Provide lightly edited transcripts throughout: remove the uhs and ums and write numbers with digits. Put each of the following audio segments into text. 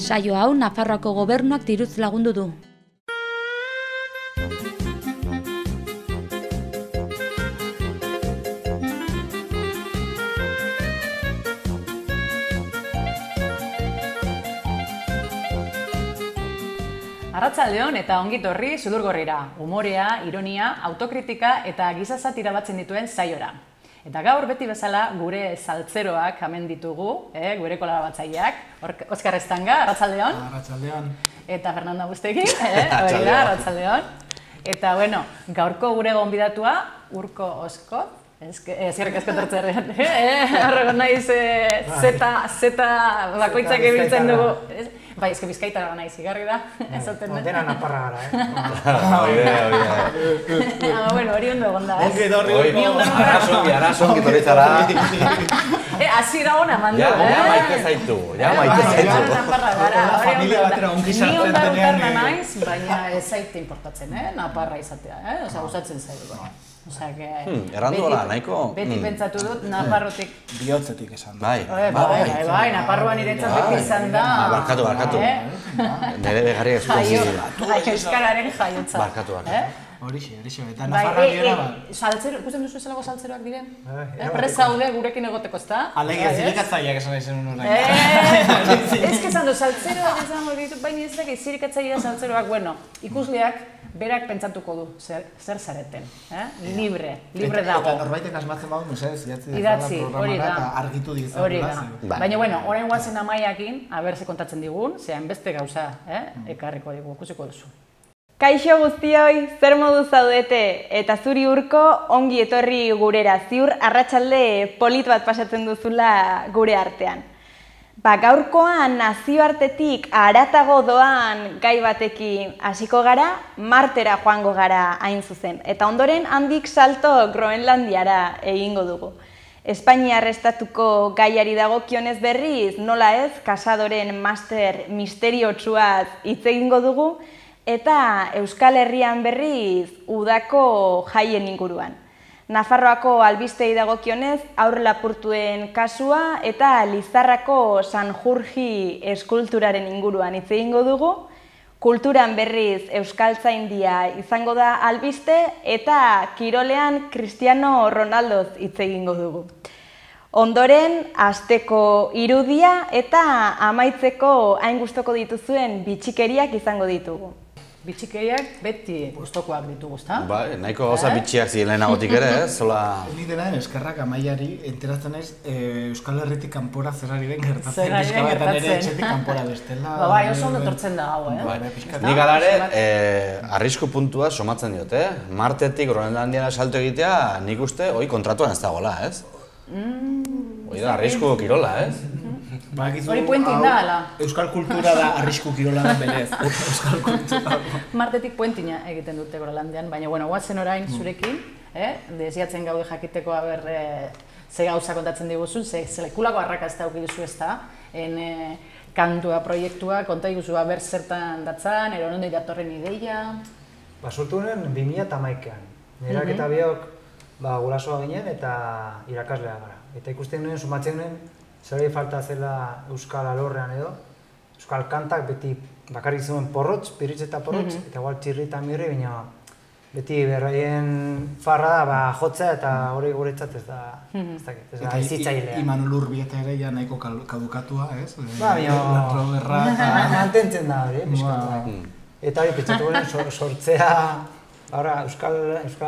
Saio hau Nafarroako gobernuak diruz lagundu du. Arratsaldeon eta ongi etorri Sudurgorrira. Humorea, ironia, autokritika eta giza satira batzen dituen saiora. Eta gaur beti bezala gure saltzeroak hemen ditugu, gure kolaboratzaileak. Oskar Estanga, arratsaldeon. Arratsaldeon. Eta Fernando Bustegi, arratsaldeon. Eta bueno, gaurko gure gonbidatua Urko Osko. Zierrek asko tortzerrean. Horrego naiz zeta bakoitzak ebiltzen dugu. Bai, ezke bizkaitara naiz, igarri da. Dena naparra gara, Bueno, hori ondo egon da. Ongi dorri. Arrazongi torritzara. Hasi da hona mandu, Ja maite zaitu. Naparra gara. Familia batera ongi Ni onda sartzen utarna denean. naiz, baina ez zaite importatzen, Naparra izatea, Osea, gustatzen zaigu. Osea, Errandu hola, nahiko. Beti pentsatu dut Nafarrotik. Bihotzetik esan. Bai. Bai, Naparroan niretzat beti izan da. Barkatu. Nere begarri eskongi. Euskararen jaiotza. Barkatu. Horixe, eta Nafarra biera bat. Saltzero, ikusten duzu ezelako saltzeroak diren? Presa haude gurekin egoteko, ezta? Alegia, zirikatzaileak esan nahi zen honen. Ez que esan du, saltzeroak esan ditut, baina ez dakit zirikatzailea saltzeroak, bueno, ikusleak berak pentsatuko du, zer zareten, libre dago. Eta norbaitek asmatzen badu, idatzi, hori da. Eta argitu dizan. Hori da. Baina, bueno, orain guazen amaiakin, haber ze kontatzen digun, zean beste gauza, ekarriko digu, ikusiko duzu. Kaixo guztioi, zer modu zaudete? Eta zuri Urko, ongi etorri gurera, ziur arratsalde polit bat pasatzen duzula gure artean. Gaurkoan nazioartetik haratago doan gai batekin hasiko gara, Martera joango gara hain zuzen. Eta ondoren handik salto Groenlandiara egingo dugu. Espainiar estatuko gaiari dagokionez berriz, nola ez, Casadoren master misteriotsuaz hitz egingo dugu, eta Euskal Herrian berriz udako jaien inguruan. Nafarroako albistei dagokionez aurrelapurtuen kasua eta Lizarrako Sanjurji eskulturaren inguruan hitz egingo dugu. Kulturan berriz Euskaltzaindia izango da albiste eta kirolean Cristiano Ronaldoz hitz egingo dugu. Ondoren, asteko irudia eta amaitzeko hain gustoko dituzuen bitxikeriak izango ditugu. Bitxikeriak beti gustokoak ditugu, ezta? Bai, nahiko gauza bitxiak ziren lehenagotik ere, ez? Ni dela eskerrak amaiari enteratzen naiz Euskal Herritik kanpora zerari den gertatzen. Ere etxetik kanpora bestela. Bai, oso ondo tortzen da hau, Nik alare, arrisku puntua somatzen diot, Martetik Groenlandiara salto egitea, nik uste, hoi kontratuan ez dagoela, ez? Hoi da, arrisku kirola, ez? Hori puentin da, ala? Euskal kultura da arrisku kirola da berez. Euskal kultura. Martetik puentina egiten dute Groenlandian, baina, bueno, guazen orain zurekin, desiatzen gaude jakiteko haber ze gauza kontatzen diguzun, ze lekulako arrakazta auki duzu ez da, kantua proiektua, konta diguzu haber zertan datzan, ero nondi datorren ideia. Sortu honen 2011an. Nerak eta biok gurasoa ginen eta irakaslea gara. Eta ikusten nuen, sumatzen nuen, zerari falta zela Euskal alorrean edo, Euskal kantak beti bakarrik zuen porrotz, piritz eta porrotz, eta igual txirri eta mirri, baina beti berraien farra da jotzea eta hori guretzat ez da ezitzailea. Imanol Urbieta ere ja nahiko kadukatua, ez? Baina mantentzen da hori, pixkatu. Eta hori pentsatu guren sortzea Euskal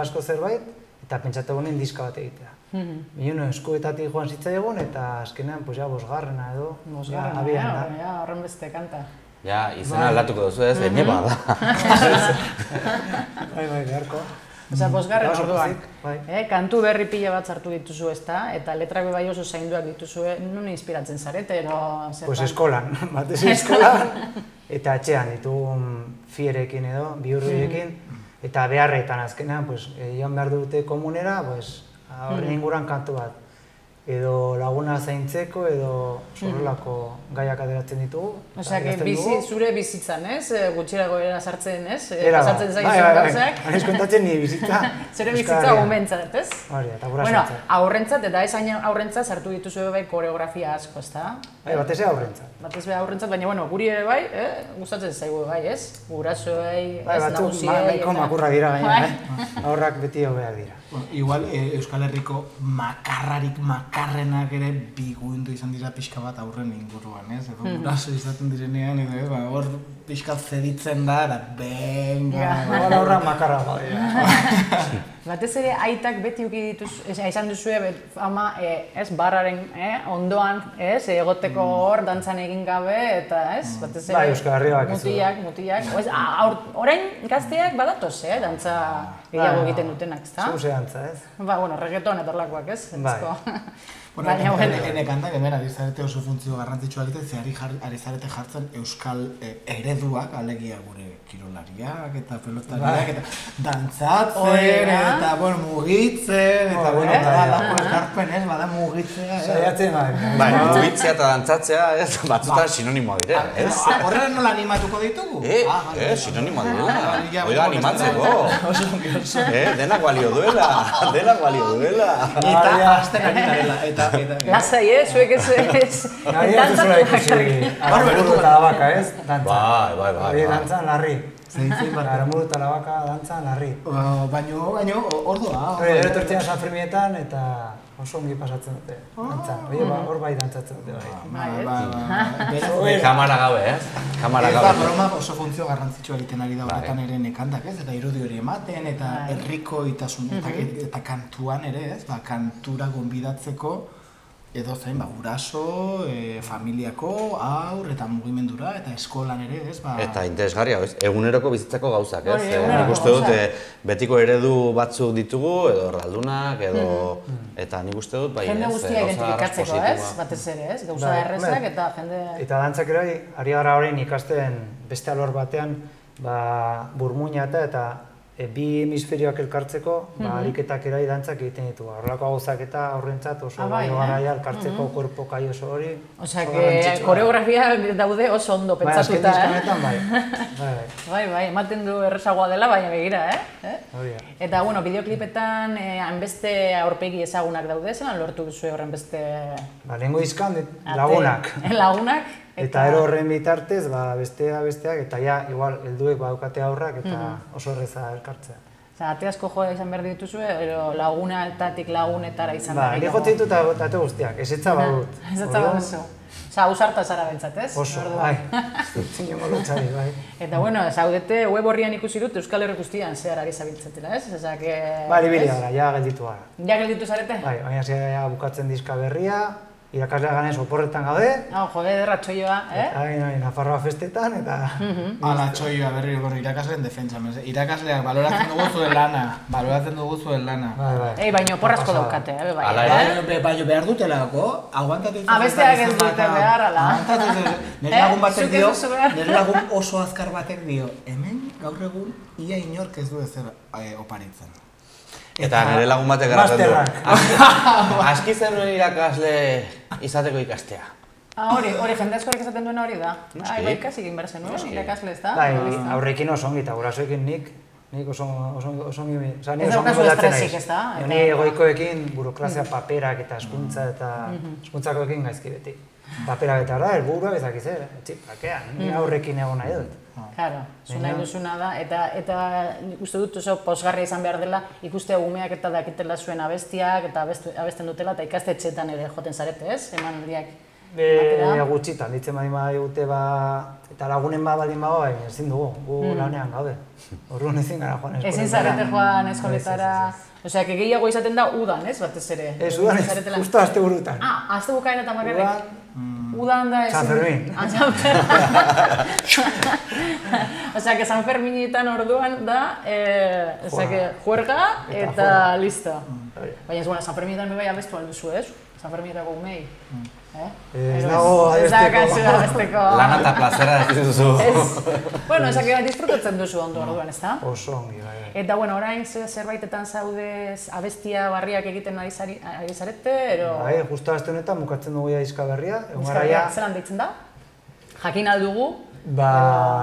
asko zerbait, eta pentsatu guren diska bat egitea. Bino, eskuetatik joan zitzaigun eta azkenean, bosgarrena edo. Bosgarrena, horren beste kanta. Ja, izena aldatuko duzu ez, neba da. Bai, beharko. Osea, bosgarren orduan. Kantu berri pila bat sartu dituzu ezta, eta letrak bai oso zainduak dituzue, non inspiratzen zarete, ero... Pues eskolan, batez eskolan. Eta etxean ditugun fierekin edo, bihurriekin. Eta beharretan azkenean, joan behar dute komunera, horren inguruan kantu bat. edo laguna zaintzeko, edo horrelako gaiak ateratzen ditugu. Osea, zure bizitzan, ez? Gutxirago era sartzen, ez? Era, pasatzen zaizun gauzak. Hanez kontatzen nire bizitza. Zure bizitza gumentzat, ez? Hori, eta gura Bueno, sartzen. aurrentzat eta ez hain aurrentzat sartu dituzu bai koreografia asko, ezta? Batez ere aurrentzat. Batez be aurrentzat, baina bueno, guri ere bai, gustatzen zaigu bai, ez? Gurasoei, ez nagusiei. Batzuk makurrak dira gaina, Aurrak beti hobeak dira. Igual Euskal Herriko makarrenak ere biguindu izan dira pixka bat aurren inguruan, ez? Edo guraso izaten direnean, edo hor pixka zeditzen da, eta benga... Aurrak makarra badira. Batez ere aitak beti izan duzue ama, ez, barraren ondoan, ez, egoteko hor, dantzan egin gabe, eta ez, batez ere... Bai, Euskal Herria bakizu. Mutiak. Orain gazteak badatoz, dantza gehiago egiten dutenak, ezta? Zuse dantza, ez? Ba, bueno, reggaeton etorlakoak, ez? Bai. Bueno, ene kantak hemen ari zarete oso funtzio garrantzitsua egiten, ze ari zarete jartzen euskal ereduak, alegia gure kirolariak eta pelotariak, eta dantzatzen, eta mugitzen, eta badako elkarpen, ez, bada mugitzea. Saiatzen bai. Bai, mugitzea eta dantzatzea, ez, batzutan sinonimoa dira, ez? Horrela nola animatuko ditugu? Sinonimoa direla. Oiga, animatzeko. Denak balio duela, Eta azten ari garela, eta... Lasai, zuek ez... Naria duzula ikusi Aramuru eta Labaka, ez? Dantza. Bai. Hori dantzan larri. Aramuru eta Labaka dantzan larri. Baina, ordoa. Hori etortzean San Fermietan eta oso ongi pasatzen dute. Dantzan. Hor bai dantzatzen dute bai. Kamara gabe, ez? Kamara gabe. Broma oso funtzio garrantzitsua egiten ari da horretan ere nekantak, ez? Eta irudi hori ematen, eta herriko itasun, eta kantuan ere, ez? Kantura gonbidatzeko edo zein, guraso, familiako, haur eta mugimendura eta eskolan ere, ez? Eta interesgarria, eguneroko bizitzako gauzak, ez? Nik uste dut, betiko eredu batzuk ditugu, edo erraldunak, edo... Eta nik uste dut, bai, ez? Jende guztia identifikatzeko, ez? Batez ere, ez? Gauza errezak eta jende... Eta dantzak ere, ari gara horrein ikasten beste alor batean, burmuina eta bi hemisferioak elkartzeko, ariketak erai dantzak egiten ditu. Horrelako gauzak eta horrentzat oso garaia elkartzeko korpo kai oso hori. Osea, koreografia daude oso ondo pentsatuta, Bai, ematen du errezagoa dela, baina begira, Eta, bueno, bideoklipetan hainbeste aurpegi ezagunak daude, zelan lortu duzu horren beste... Lehengo dizkan lagunak. Lagunak. Eta ero horren bitartez, besteak, eta ja, igual, helduek badukate aurrak eta oso erreza elkartzea. Osa, ate asko joa izan behar dituzue, ero lagunetatik lagunetara izan behar dituzue? Ba, jote ditut ate guztiak, ezetza badut. Ezetza baduzu. Osa, ausarta zara bentsat, ez? Oso, bai. Zinongo lotxari, bai. Eta, bueno, zaudete web horrian ikusi dut Euskal Herri guztian zehar ari zabiltzatela, ez? Ba, libili gara, ja gelditu gara. Ja gelditu zarete? Bai, baina zera bukatzen diska berria, irakaslea ganez oporretan gaude. Jode, derra txoioa, Nafarroa festetan, eta... Ala, txoioa berri irakasleen defentsa. Irakasleak baloratzen dugu zuen lana. Ei, baina oporrazko daukate, bai. Baina behar dutelako, aguantatu izan. Besteak ez dute behar, ala. Nire lagun batek dio, nire lagun oso azkar batek dio, hemen gaur egun ia inork ez du ezer oparitzen. Eta nire lagun batek garatzen du. Aski zenuen irakasle izateko ikastea. Hori, jende askorik esaten duena hori da. Bai, ikasi egin behar zenuen, irakasle ez da? Bai, aurrekin oso ongi, eta gurasoekin nik oso ongi... Ez daukazu estresik ez da? Ni egoikoekin burokrazia paperak eta eskuntza eta eskuntzakoekin gaizki beti. Paperak eta da, helburua bezakiz, txipakean, ni aurrekin egon nahi dut. Claro, zu nahi duzuna da, eta uste dut oso posgarria izan behar dela ikustea umeak eta dakitela zuen abestiak eta abesten dutela eta ikastetxeetan ere joten zarete, ez? Eman aldiak. Gutxitan, ditzen badin badigute eta lagunen baldin bago, ezin dugu, gu lanean gaude. Orduan ezin gara joan eskoletara. Ezin zarete joan eskoletara. Osea, gehiago izaten da udan, ez, batez ere? Ez, udan ez, justo asteburutan. Astebukaeran eta bakarrik? Udan da... San Fermin. San Fermin. Osea, que San Ferminetan orduan da, juerga eta listo. Baina ez, San Ferminetan bai abestu alduzu, ez? San Ferminetako umei. Ez dago abesteko. Lana eta plazera ez duzu. Bueno, disfrutatzen duzu ondo orduan, ez da? Oso ongi, bai. Eta, bueno, orain zerbaitetan zaudez abestia barriak egiten ari zarete, ero... Bai, justo aste honetan bukatzen dugu diska berria. Diska berria, zelan deitzen da? Jakin aldugu?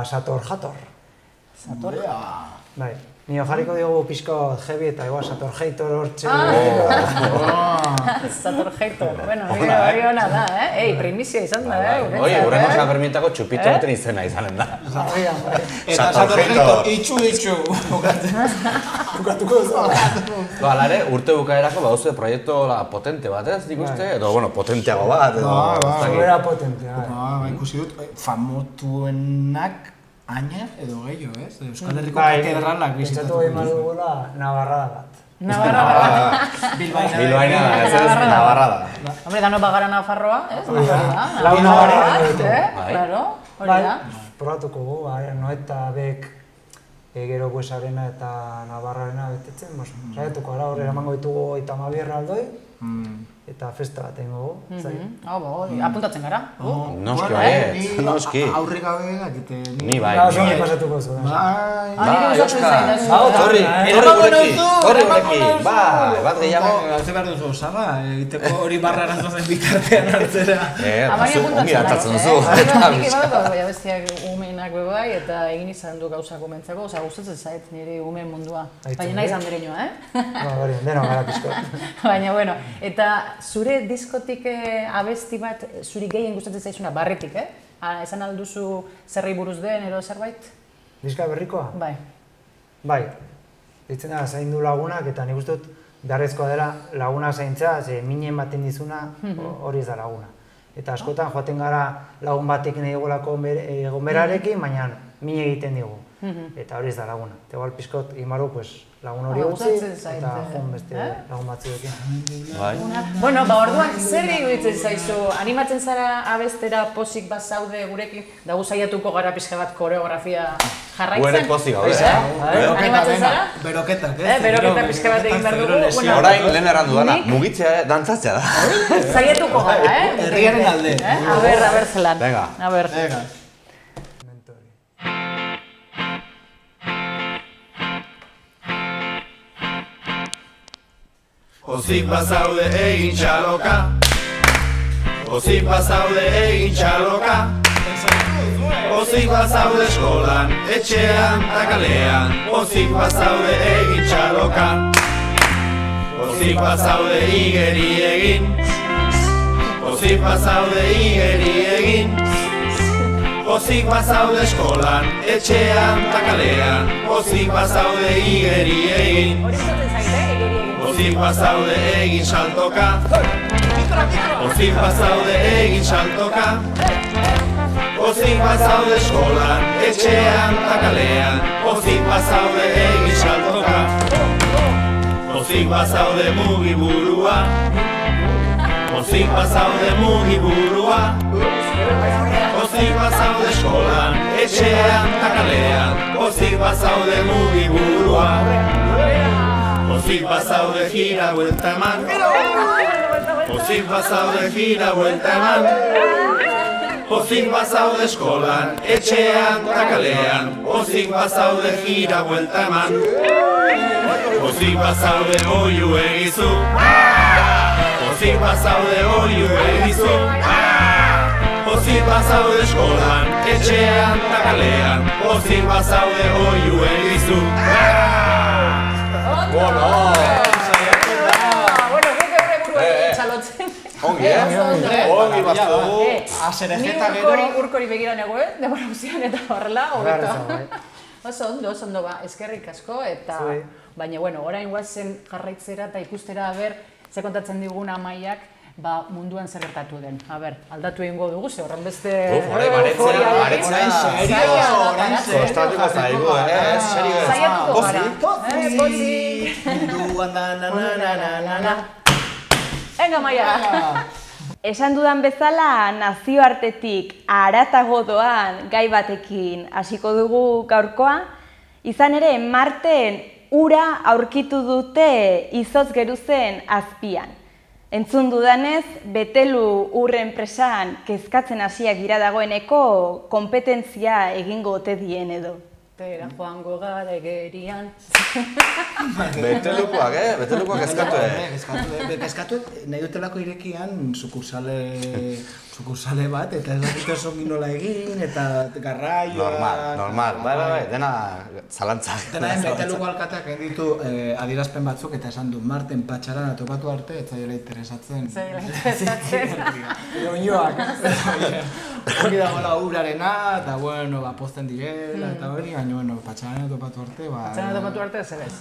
Sator jator. Sator? Bai. Nio jarriko diogu pixko heavy eta igual Sator Heitor hortxe. Sator Heitor, bueno, hori hona da, primizia izan da, Oie, urrengo San Ferminetako txupito baten izena izanen da. Eta Sator Heitor, itxu. Bukatuko duzu. Alare, urte bukaerako baduzu proiektu potente bat, ez dik uste? Edo, bueno, potenteago bat, edo... Zubera potentea, ikusi dut, famotuenak aina edo gehiago, ez? Euskal Herriko katedralak bizitatu. Pentsatu behar dugula Navarrada bat. Navarrada bat. Bilbaina da, ez Navarrada. Hombre, dano bagara Nafarroa, ez? Lau Navarrada. Claro, hori da. Probatuko gu, Noeta, Bek, gero Buesarena eta Navarrarena betetzen. Zaiatuko gara, horre eramango ditugu 32 aldoi. Eta festa bat egingo gu. Apuntatzen gara. Noski baiet, noski. Aurre gabe egite. Ni bai. Zongi pasatuko zu. Bai, Oskar. Torri gurekin. Bai, bat gehiago. Ze behar duzu osaba, egiteko hori barrara zozen bitartean hartzera. Ongi hartatzen duzu. Nik baina bestiak umeenak bebai eta egin izan du gauzak komentzako. Osa, gustatzen zait nire umeen mundua. Baina nahi izan bereinoa, Hori, deno gara pizko. Baina, bueno, eta zure diskotik abesti bat, zuri gehien gustatzen zaizuna, barretik, esan alduzu zerri buruz den, edo zerbait? Diska berrikoa? Bai. Bai. Ditzen da, zaindu lagunak, eta nik uste dut beharrezkoa dela laguna zaintza, ze minen baten dizuna, hori ez da laguna. Eta askotan joaten gara lagun batekin egolako egonberarekin, baina min egiten digu. Eta hori ez da laguna. Eta igual pizkot imaru, lagun hori utzi, eta joan beste lagun batzuekin. Bueno, orduan, zer iruditzen zaizu? Animatzen zara abestera pozik bat zaude gurekin, da saiatuko gara pixka bat koreografia jarraitzen? Guere pozik gaude, Animatzen zara? Beroketak, Beroketa pixka bat egin behar dugu. Orain lehen errandu dana, mugitzea, dantzatzea da. Saiatuko gara, Herriaren alde. A ber, zelan. Venga. A ber. Pozik bazaude egin txaloka, pozik bazaude egin txaloka, pozik bazaude eskolan, etxean eta kalean, pozik bazaude egin txaloka, pozik bazaude igeri egin, pozik bazaude igeri egin, pozik bazaude eskolan, etxean eta kalean, pozik bazaude igeri egin. Pozik bazaude egin saltoka, pozik bazaude egin saltoka, pozik bazaude eskolan, etxean eta kalean, pozik bazaude egin saltoka, pozik bazaude mugiburua, pozik bazaude mugiburua, pozik bazaude eskolan, etxean eta kalean, pozik bazaude mugiburua. Pozik bazaude gira buelta eman, pozik bazaude gira buelta eman, pozik bazaude eskolan, etxean eta kalean, pozik bazaude gira buelta eman, pozik bazaude oiu egizu, pozik bazaude oiu egizu, pozik bazaude eskolan, etxean eta kalean, pozik bazaude oiu egizu. Bueno, guk eure buru egin txalotzen. Ongi, Ongi baztu. Azerejeta gero. Ni urkori begira nego, demora guztian eta horrela, hobeto. Oso ondo, eskerrik asko, eta... Baina, bueno, orain guazen jarraitzera eta ikustera, ze kontatzen digun Amaiak, munduan zer gertatu den. Aldatu egingo dugu, ze horren beste... Kostatuko zaigu, serio. Zaiatuko gara. Pozik, munduan da na na na na na. Venga, Amaia! Esan dudan bezala, nazioartetik haratago doan gai batekin hasiko dugu gaurkoa. Izan ere, Marten ura aurkitu dute izotz geruzen azpian. Entzun dudanez, Betelu ur enpresan kezkatzen hasiak dira dagoeneko kompetentzia egingo ote dien edo. Tera joango gara egerian. Betelukoak, Betelukoak kezkatu, Kezkatu, nahi dutelako irekian sukursale bat, eta ez dakit oso nola egin, eta garraioa... Normal, bai, dena zalantzak. Dena Beteluko alkateak egin ditu adierazpen batzuk, eta esan du, Marten patxarana topatu arte, ez zaila interesatzen. Zaila interesatzen. Oinoak, hori dagoela urarena, eta bueno, pozten direla, eta hori, baina bueno, patxarana topatu arte, Patxarana topatu arte, zer ez.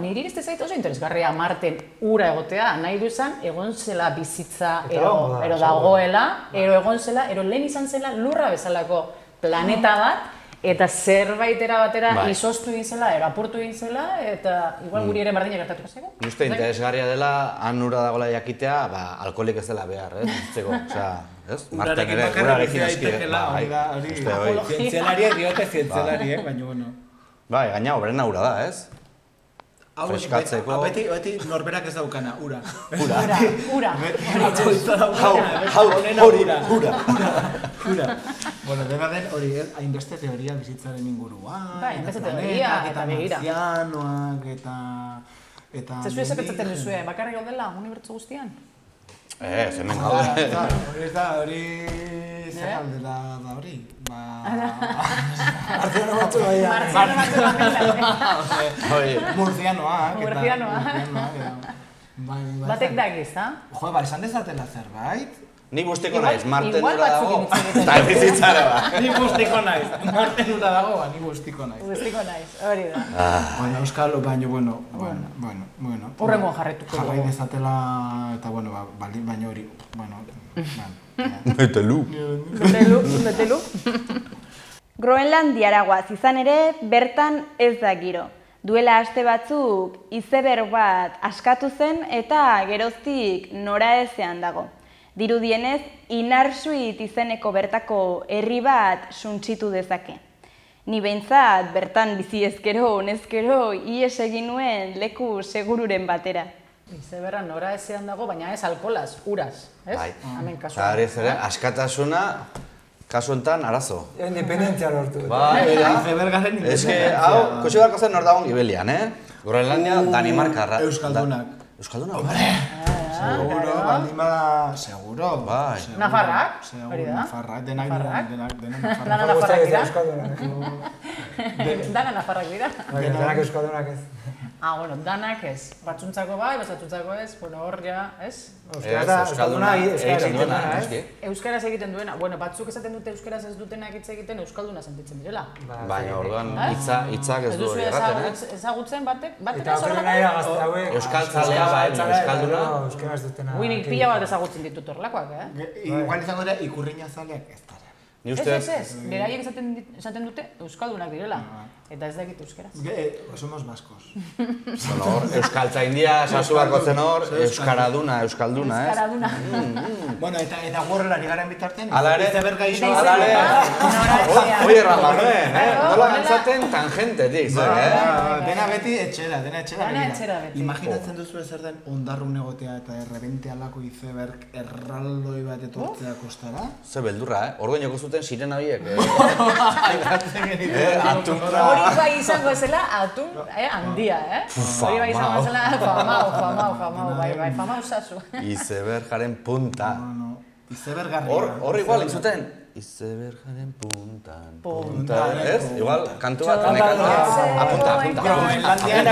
Niri izte zait oso interesgarria Marten ura egotea, nahi du izan, egon zela bizitza, ero dagoela, ero egon zela, ero lehen izan zela lurra bezalako planeta bat, eta zerbaitera batera izoztu egin zela, ero apurtu egin zela, eta igual guri ere berdina gertatuko zego. Uste interesgarria dela, han ura dagoela jakitea, alkoholik ez dela behar, Zego, osea, ez? Marten ere, urarekin aski, zientzialariek diote zientzialariek, baina bueno. Bai, gaina obrena ura da, ez? Freskatzeko... Beti norberak ez daukana, ura. Ura. Ura. Bueno, dena den hori, hainbeste teoria bizitzaren inguruan. Bai, hainbeste teoria, eta begira. Marzianoak, eta... Zezu ez epetzaten duzue, bakarrik gaudela, unibertsu guztian? Hemen gaude. Hori... Zer aldela da hori? Marziano batzu Murzianoak. Batek dakiz, ha? Jo, esan dezatela zerbait. Ni guztiko naiz, Marten ura dago. Eta bizitzara ba. Ni guztiko naiz, Marten ura dago, ni guztiko naiz. Guztiko naiz, hori da. Baina euskal, baina, bueno. Urrengoan jarretuko dugu. Jarrai dezatela, eta bueno, baina hori, bueno. Betelu. Groenlandiara goaz izan ere, bertan ez da giro. Duela aste batzuk izeberg bat askatu zen eta geroztik noraezean dago. Dirudienez, Inarsuit izeneko bertako herri bat suntsitu dezake. Ni behintzat bertan bizi ezkero, honezkero, ies egin nuen leku segururen batera. Izeberra noraezean dago, baina ez alkolaz, uraz, ez? Bai. Hemen kasuan. Eta askatasuna, kasu enten arazo. Independentzia lortu. Bai, Izebergaren ez que, hau, kusi barko zen nor dagoen Gibelian, Groenlandia, Danimarkarra. Euskaldunak. Euskaldunak? Seguro, baldimada, seguro. Bai. Nafarrak, hori da. Nafarrak, denak Nafarrak. Dana Nafarrak dira. Dana Nafarrak dira. Denak Euskaldunak ez. Bueno, danak ez. Batzuntzako bai, batzuntzako ez, bueno, hor ja, ez? Euskalduna egiten duena, ez? Euskaraz egiten duena. Bueno, batzuk esaten dute euskaraz ez dutenak hitz egiten euskalduna sentitzen direla. Baina orduan hitzak ez du hori erraten, ez? Ezagutzen batek eta horrela nahi da gazte hauek. Euskaltzalea baina euskalduna. Euskaraz dutena. Uinik pila bat ezagutzen ditut horrelakoak, Igual izango dira ikurriña zaleak ez dara. Ez, beraiek esaten dute euskaldunak direla. Eta ez dakit euskeraz. Somos vascos. Bueno, hor, euskaltzaindia, sasu barko zen hor, euskalduna, ez? Euskaraduna. Bueno, eta gorrelari garen bitartean, izeberga iso, oie ramarren, nola gantzaten tangentetik, Dena beti etxera, begira. Imaginatzen duzu zer den ondarrun egotea eta errebente alako izeberg erraldoi bat etortzea kostara? Ze beldurra, Orduan joko zuten sirena biek. Hori bai izango zela atun handia, Hori bai izango zela famau, bai, famau zazu. Izebergaren punta. Izebergarria. Hor igual intzuten. Izebergaren puntan, ez? Igual, kantu bat, apunta. Groenlandian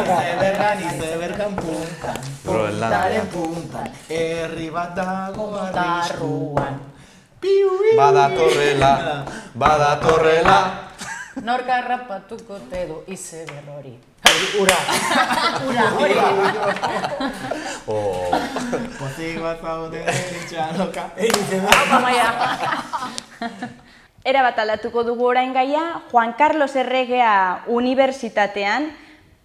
izebergan puntan. Puntaren puntan. Herri bat dago Darruan. Badatorrela. Norka rapatuko te du izeberg hori. Ura. Hori. Pozik bat zaude itxaloka. Era bat aldatuko dugu orain gaia, Juan Carlos Erregea Unibertsitatean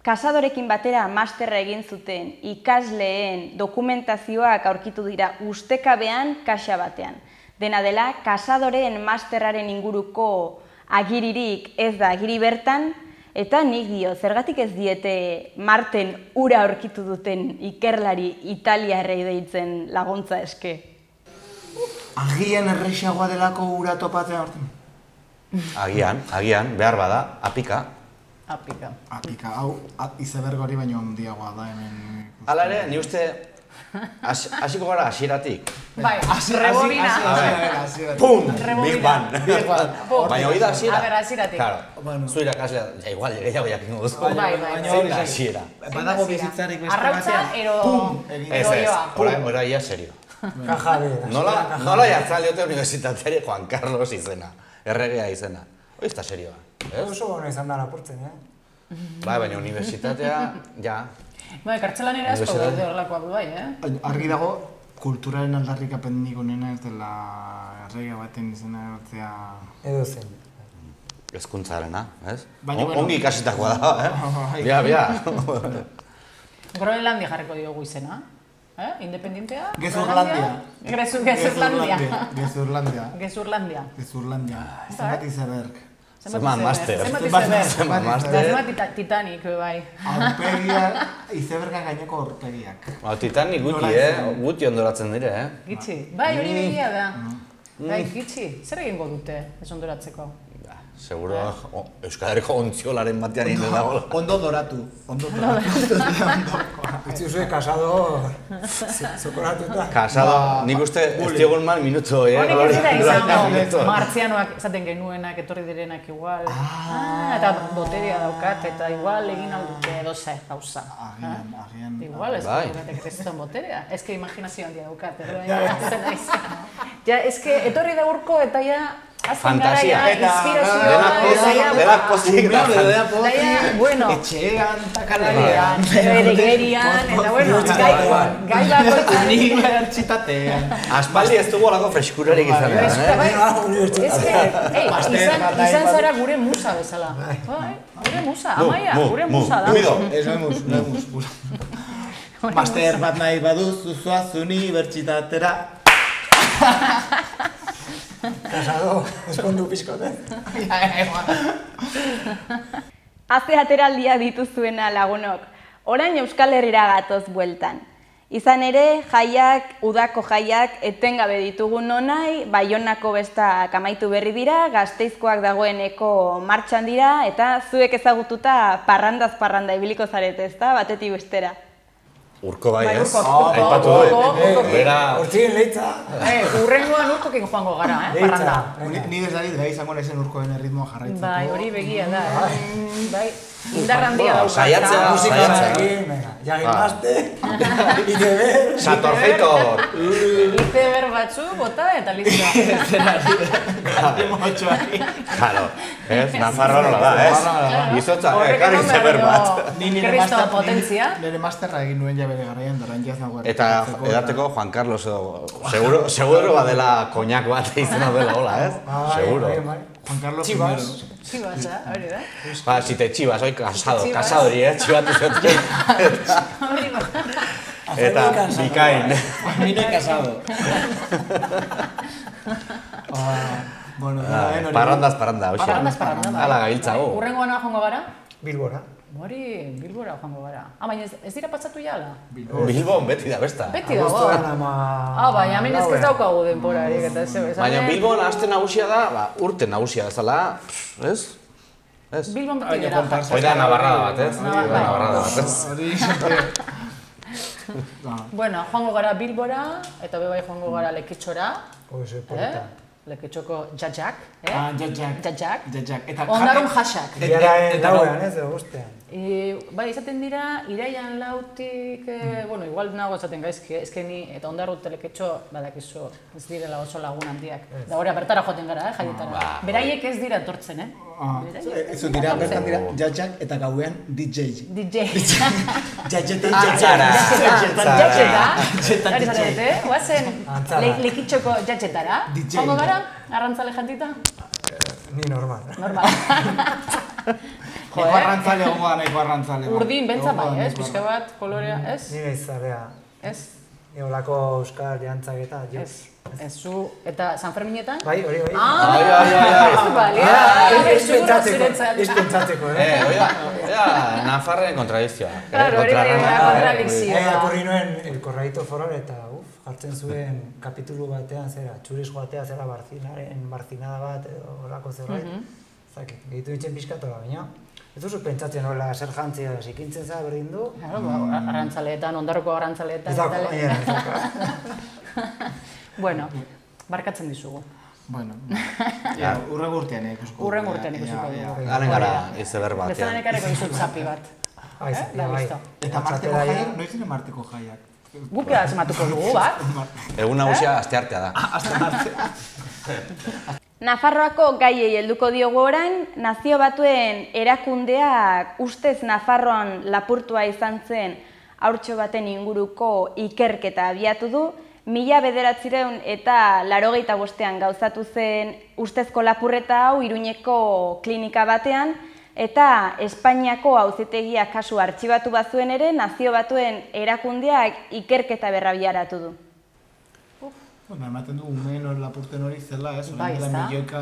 Kasadorekin batera masterra egin zuten ikasleen dokumentazioak aurkitu dira ustekabean kaxa batean. Dena dela, kasadoreen masterraren inguruko agiririk ez da agiri bertan, eta nik dio, zergatik ez diete Marten ura aurkitu duten ikerlari italiarrei deitzen laguntza eske? Agian errexagoa delako ura topatzea horten? Agian, behar bada, apika. Apika, hau izeberg hori baino handiagoa da hemen. Hala ere, ni uste hasiko gara hasieratik. Bai, rebobina. Pum! Big Bang. Baina hori da hasiera. A ber, hasieratik. Claro, zu irakaslea, igual, gehiago jakingo duzu. Bai. Zein da hasiera. Badago bizitzarik beste Arrautza, Ez, ora ia serio. Kajabe. Nola jartzen diote unibertsitateari Juan Carlos izena, erregea izena. Hori ez da serioa. Oso bona izan da lapurtzen, Bai, baina unibertsitatea, ja. Bai, kartzelan ere asko daude horrelakoa du bai, Argi dago, kulturaren aldarrikapenik onena ez dela erregea baten izena egotzea... Edo zen. Hezkuntzarena, ez? Baina, Ongi ikasitakoa da, Bia. Groenlandia jarriko diogu izena. Independentea? Gezurlandia. Gezurlandia. Zenbat izeberg. Zeman master. Zenbat Titanic, bai. Aurpegiak, izeberga gaineko aurpegiak. Titanic guti ondoratzen dire, Gitxi. Bai, hori begia da. Bai, gitxi. Zer egingo dute ez ondoratzeko? Seguro, Euskal Herriko ontziolaren batean hinde dago. Ondo doratu. Itzi zuen kasado zokoratuta. Kasado, nik uste ez diogun mal minuto, Honek ez dira izango, martzianoak esaten genuenak, etorri direnak igual. Eta boteria daukat, eta igual egin aldute edo zer gauza. Agian. Igual ez dugatek kriston boterea. Ez que imaginazio handia daukat, ez que etorri da urko eta ja fantasia, inspirazioa, denak pozik da. Bueno, etxean, takalean, beregerian, eta bueno, gai bako unibertsitatean. Aspaldi ez dugu olako freskurarik izan izan zara gure musa bezala. Gure musa, Amaia, gure musa da. Ez no mus. Master bat nahi baduzu zoaz unibertsitatera. Kasado, eskondu pixkote. Aze ateraldia dituzuena lagunok, orain Euskal Herrira gatoz bueltan. Izan ere, udako jaiak etengabe ditugu nonai, Baionako bestak amaitu berri dira, Gasteizkoak dagoeneko martxan dira, eta zuek ezagututa parrandaz parranda ibiliko zarete, ezta, batetik bestera. Urko bai, ez? Aipatu dut. Hortzien leitza. Urrengoan urkokin joango gara, parranda. Ni desdarit gai izango nezen urkoen erritmoa jarraitzeko. Bai, hori begia da. Bai, indar handia dauka. Saiatzea. Jagimazte, izeber. Satorfeitor. Izeber batzu, bota eta listo. Claro, ez? Nafarroa nola da, ez? Izotza, karri izeber bat. Kristo potentzia. Nire masterra egin nuen bere garaian, doran jaz nagoa. Eta edateko Juan Carlos edo, seguro badela koñak bat izena dela, hola, ez? Seguro. Juan Carlos Chivas. Chivas, hori da. Ba, si te chivas, oi, casado hori, txibatu zetzen. Eta bikain. Mino casado. Bueno, parrandaz parranda, hoxe. Parrandaz parranda, bai. Ala gabiltzago. Urrengoan joango gara? Bilbora. Hori, Bilbora joango gara. Baina ez dira patsatu jala? Bilbon beti da, besta. Beti dago. Baina hemen ez daukagu denborarik eta ez. Baina Bilbon aste nagusia da, urte nagusia bezala, ez? Bilbon beti gara. Hoi da nabarrada bat, ez? Nabarrada bat, ez? Bueno, joango gara Bilbora, eta bebai joango gara Lekitxora. Oso polita. Lekitxoko jajak. Jajak. Ondarun jasak. Biaraen dauean, ez, guztean. Bai, izaten dira, iraian lautik, bueno, igual nago esaten gaizki, ezkeni, eta ondarru teleketxo, badakizu, ez direla oso lagun handiak. Da hori, bertara joaten gara, jaietara. Beraiek ez dira etortzen, Ez dira, bertan dira, jajak eta gauean DJ. Jajeta. Hori zarete, guazen Lekitxoko jatxetara. Hongo gara, arrantzale jantita? Ni normal. Nahiko arrantzale egongo da, nahiko arrantzale. Urdin, bentsa bai, ez? Pixka bat, kolorea, ez? Nire izalea. Ez? Eolako euskal jantzak eta, Ez. Ez zu, eta San Ferminetan? Bai, hori. Ez pentsatzeko, Nafarren kontradizioa. Claro, hori kontradizioa. Ekorri nuen el Corralito Foral eta jartzen zuen kapitulu batean zera, txuriz joatea zera barzinada bat edo horako zerbait. Zaki, gehitu ditzen pixkatu baina. Ez duzu pentsatzen hola zer jantzia zikintzen za berdin du. Arrantzaleetan, ondarroko arrantzaleetan. Bueno, barkatzen dizugu. Bueno, urrengo urtean ikusiko. Urrengo urtean ikusiko dugu. Garen gara, izeber batean. Bezalan ekareko dizut zapi bat. Bai. Eta Marteko jaiak, noiz ere Marteko jaiak? Guk sematuko dugu, bat? Egun nagusia asteartea da. Nafarroako gaiei helduko diogu orain, Nazio Batuen erakundeak ustez Nafarroan lapurtua izan zen haurtxo baten inguruko ikerketa abiatu du, 1985 eta 85ean gauzatu zen ustezko lapurreta hau Iruñeko klinika batean, eta Espainiako auzitegiak kasu artxibatu bazuen ere, Nazio Batuen erakundeak ikerketa berrabiaratu du. Bueno, ematen du umeen hori lapurten hori zela, ez? Bai, ez da. Milioika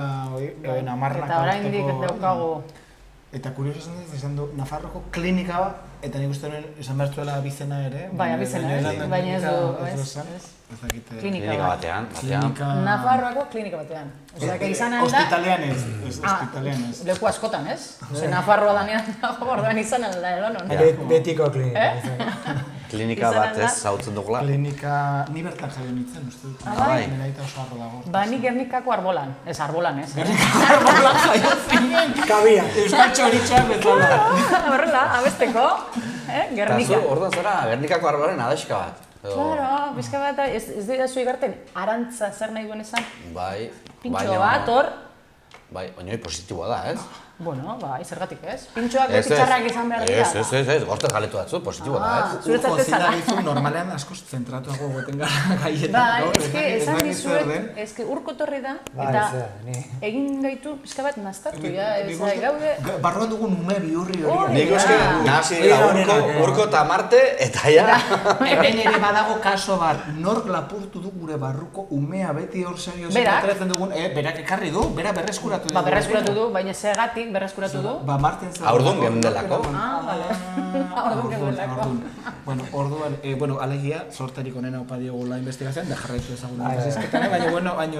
amarnak eta oraindik daukagu. Eta kurioso esan du, Nafarroko klinika bat, eta nik uste esan behar zuela abizena ere. Bai, abizena, baina ez du, Klinika batean. Nafarroako klinika batean. Osea, que izan alda... Hospitalean ez, hospitalean ez. Leku askotan, ez? Osea, Nafarroa danean dago, orduan izan alda, edonon. Betiko klinika. Klinika bat ez, zautzen dugula. Klinika, ni bertan jaio nintzen, uste dut. Bai. Neraita oso arro dago. Ba, ni Gernikako arbolan. Ez, arbolan, ez? Gernikako arbolan jaio zinen. Kabia. Euskal txoritxoak bezala. Horrela, abesteko. Gernika. Eta zu, orduan zara, Gernikako arbolaren adaxka bat. Claro, bizka bat, ez dira zu igarten, arantza zer nahi duen esan? Bai. Pintxo bat, hor. Bai, oinoi positiboa da, ez? Bueno, bai, zergatik ez? Pintxoak txarrak izan behar dira. Ez, gortez galetu batzu, positiboa da, ez? Zuretzat ez zara. Normalean askoz zentratuago goten gara gaietan. Bai, esan dizuet, urko torri da, eta egin gaitu pixka bat naztatu, gaude... Barruan dugun ume bihurri hori. Nik uste, nahasi dira urko eta Marte, eta ja... Hemen ere badago kaso bat, nork lapurtu du gure barruko umea beti hor serio zentratzen dugun, berak ekarri du, bera berreskuratu du. Ba, berreskuratu du, baina segatik berreskuratu du. Ba, Marten zen... Aurdun gendelako. Bale. Aurdun gendelako. Bueno, alegia, sortarik onena opa diogula investigazioan, da jarraitu ezagun izketan, baina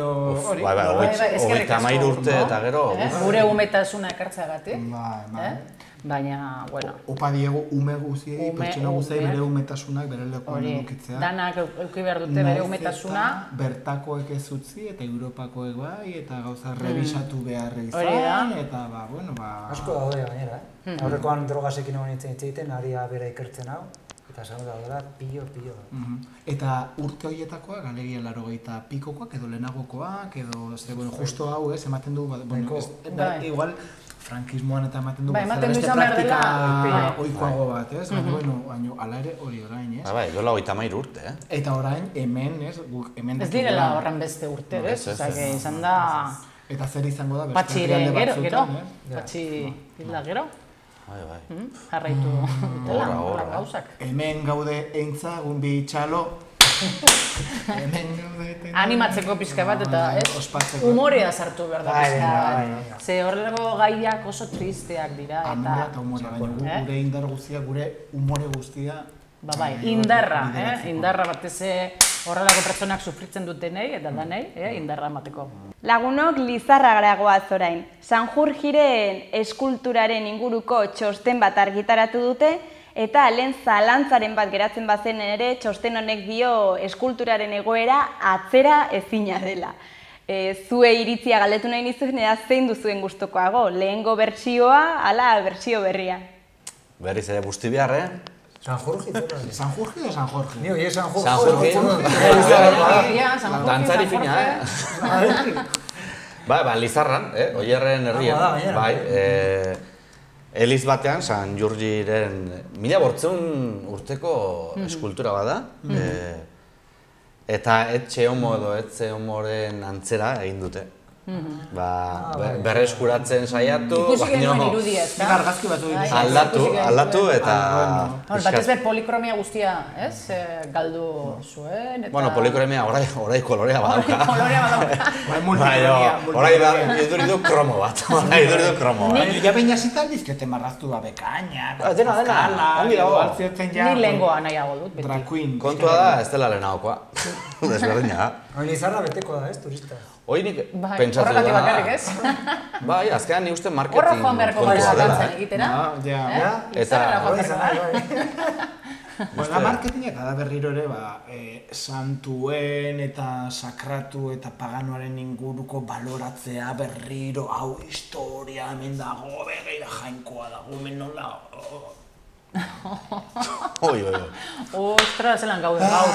hori. Bai, 33 urte eta gero... Gure umetasuna ekartzeagatik. Bai. Baina, bueno... Opa diegu ume guziei, pertsona guziei bere umetasunak bere lekuan edukitzea. Danak euki behar dute bere umetasuna. Bertakoek ez utzi eta Europakoek bai, eta gauza revisatu beharra izan, eta asko daude gainera, Aurrekoan drogasekin egon nintzen aria bera ikertzen hau, eta esan daudela pilo. Eta urte horietakoak, alegia 80 pikokoak, edo lehenagokoak, edo justo hau ez, ematen du, igual, frankismoan eta ematen du beste praktika oikoago bat, ez? Baina, ala ere hori orain, ez? Bai, dola 33 urte, eh? Eta orain, hemen, ez? Ez direla horren beste urte, ez? Osa, izan da... Eta zer izango da, beste herrialde batzutan, Patxi hilda gero. Bai. Jarraitu dela, gauzak. Hemen gaude eintzagun bi txalo. Animatzeko pixka bat eta humorea sartu behar da pixka bat. Ze horrelako gaiak oso tristeak dira eta... Amore eta humorea, baina gure indar guztia, gure humore guztia... Bai, indarra batez horrelako pertsonak sufritzen dutenei eta danei, indarra emateko. Lagunok Lizarragara goaz orain. Sanjurjiren eskulturaren inguruko txosten bat argitaratu dute, eta lehen zalantzaren bat geratzen bazen ere, txosten honek dio eskulturaren egoera atzera ezina dela. Zue iritzia galdetu nahi nizuen, eda zein duzuen gustukoago, lehengo bertsioa, ala bertsio berria. Berriz ere busti behar, Sanjurji, Sanjurji o San Jorge? Ni oie Sanjurji. Sanjurji. Dantzari fina, Ba, Lizarran, Oierren herrian. Bai, Eliz batean, San Jurjiren 1800 urteko eskultura bada. Eta etxe homo edo etxe homoren antzera egin dute. berreskuratzen saiatu, Ikusi genuen irudia, ez da? Nik argazki batu aldatu eta... Batez be polikromia guztia, ez? Galdu zuen, eta... Bueno, polikromia orai kolorea badauka. Kolorea badauka. Orai iduridu kromo bat. Ja baina zitan dizkete marraztu da bekaina, Dena, ongi dago. Ni lehengoa nahiago dut, beti. Drag queen. Kontua da, ez dela lehenagokoa. Desberdina. Hori izarra beteko da, ez, turista. Hoi nik pentsatu da... Horregatik bakarrik, ez? Bai, azkenan ni uste marketing Horra joan beharko kontua dela. gara egitera. Eta... Bueno, marketing eta da berriro ere, santuen eta sakratu eta paganoaren inguruko baloratzea berriro, hau historia hemen dago, begira jainkoa dago, hemen nola... Oi. Ostra, zelan gaude gaur.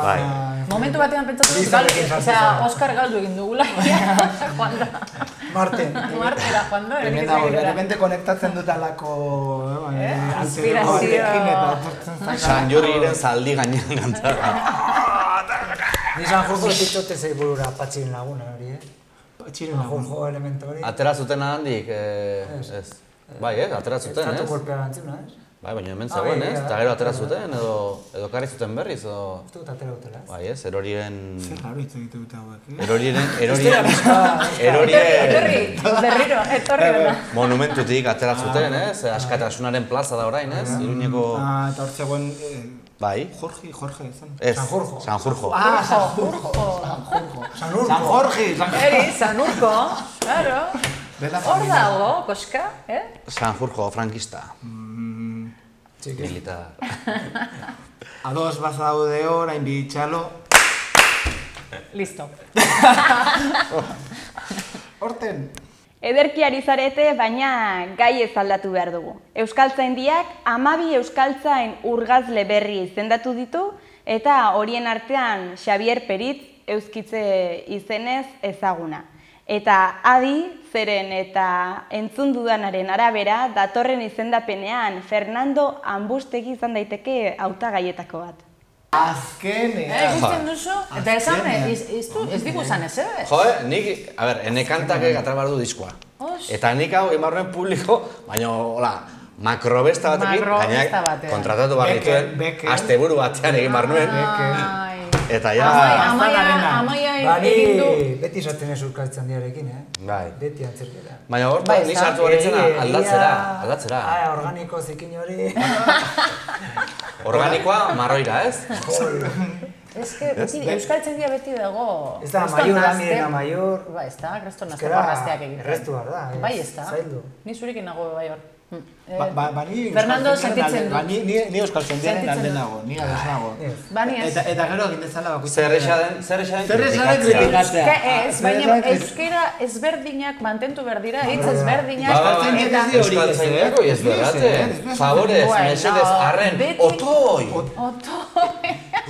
Bai. Momentu batean pentsatu dut, Oscar galdu egin dugula. Joan da. Martera, joan da. De repente konektatzen dut alako... Inspirazio. San Jorriren zaldi gainean kantzara. Ni San Jorge ditzote zei burura patxiren laguna hori, San Jorge elemento hori. Atera zuten handik, ez. Bai, atera zuten, ez? Estatu golpea gantzuna, ez? Bai, baina hemen zegoen, ez? Eta gero atera zuten, edo karri zuten berriz, edo... Uste dut atera dutela, ez? Bai, ez, erorien... Zer raro hitz egite dute hauek, Berriro, etorri dena. Monumentutik atera zuten, ez? Askatasunaren plaza da orain, ez? Iruñeko... Eta hor zegoen... Bai. Jorge, zen? Ez, San Jorge. San Jorge. San Jorge! San Urko, claro. Hor dago, koska, San Jorge, frankista. Militar. Ados bazaude orain bitxalo. Listo. Horten. Ederki ari zarete, baina gai ez aldatu behar dugu. Euskaltzaindiak 12 euskaltzain urgazle berri izendatu ditu, eta horien artean Xabier Peritz euskitze izenez ezaguna. Eta adi, zeren eta entzun dudanaren arabera, datorren izendapenean Fernando Ambustegi izan daiteke hautagaietako bat. Azkenean. Ikusten duzu? Eta esan, ez digu esan ez, nik, ene kantak atara behar du diskoa. Eta nik hau emarruen publiko, baina, hola, makrobesta batekin, kontratatu behar dituen, asteburu batean egin behar nuen. Eta ja... Amaia egin du... Beti esaten ez urkaltzen diarekin, Bai. Beti antzerketa. Baina hor, ni sartu horretzen aldatzera. Organiko zikin hori. Organikoa, marroira, ez? Ez que euskaltzaindia beti dago... Ez da, maior da, miren amaior... Ba, ez da, kreston nazteko gazteak egiten. Errestu behar da, Bai, ez da. Zaildu. Ni zurekin nago bai hor. Fernando sentitzen du. Ni euskaltzaindiaren alde nago, ni ados nago. Eta gero egin dezala bakoitzak. Zer esaden kritikatzea. Ez, baina euskera ezberdinak mantentu behar dira, hitz ezberdinak. Euskaltzaindiako ez berrate. Favorez, mesedez, arren, otoi!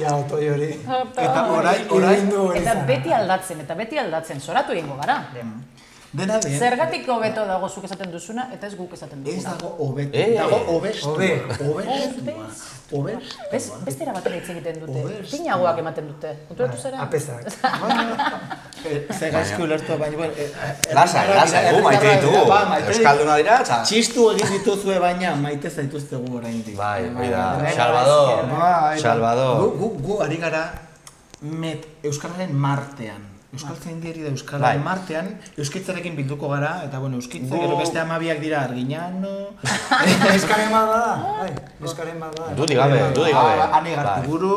Ja, otoi hori. Eta orain Eta beti aldatzen, zoratu egingo gara. Dena den. Zergatik hobeto dago zuk esaten duzuna eta ez guk esaten duzuna. Ez dago hobeto, dago hobestua. Beste era batera hitz egiten dute. Pinagoak ematen dute. Konturatu zera? Apesak. Ze gaizki ulertu, baina... Lasa, maite ditugu. Euskalduna dira, eta... Txistu egin dituzue baina maite zaituztegu oraindik. Bai, Salvador. Gu ari gara Euskararen martean. Euskaltzaindiari da Euskalaren martean, euskitzarekin bilduko gara, eta bueno, euskitza gero beste 12 dira Arginano... Euskaren bat da, Euskaren bat da. Dudi gabe. Ane Gartiburu...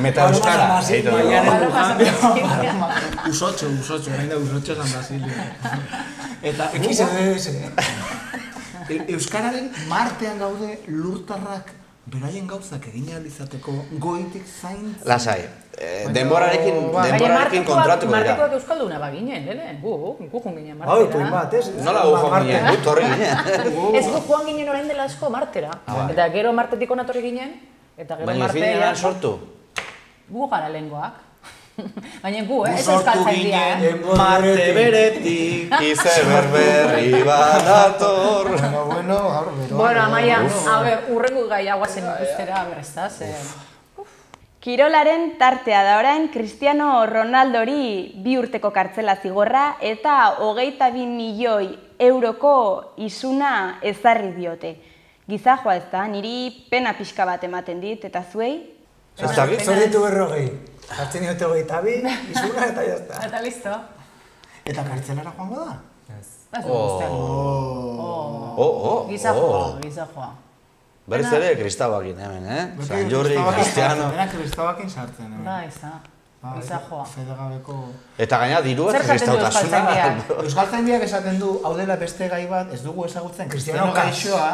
Meta Euskara, eitu dugu. Usotxo, orain da Usotxo San Basilio. Eta XDS. Euskararen martean gaude lurtarrak beraien gauzak egin ahal izateko goitik zaintza. Lasai, denborarekin kontratuko dira. Martikoak euskalduna baginen, guk joan ginen Hau, martera. batez. Nola gu joan ginen, gu torri ginen. Ez guk joan ginen orain dela asko martera. Eta gero martetik onatorri ginen, eta gero Baina martea... finean sortu? Gu gara lehengoak. Baina gu, ez euskaltzaindia, Marte beretik. Ize berberri badator. Bueno, Amaia, urrengo gai guazen ikustera, ez da, Kirolaren tartea da orain Cristiano Ronaldori 2 urteko kartzela zigorra eta 22 milioi euroko isuna ezarri diote. Gizajoa ez da, niri pena pixka bat ematen dit, eta zuei? Zor ditu 40. Jartzen diote 22, isuna eta jazta. Eta listo. Eta kartzelara joango da? Ez du guztiak. Gizajoa. Berriz ere kristabakin hemen, San Jordi, Cristiano... Dena kristabakin sartzen, hemen. Da, gizajoa. Fedegabeko... Eta gaina diruaz kristautasuna. Euskaltzaindiak esaten du, hau dela beste gai bat, ez dugu ezagutzen Cristiano gaixoa.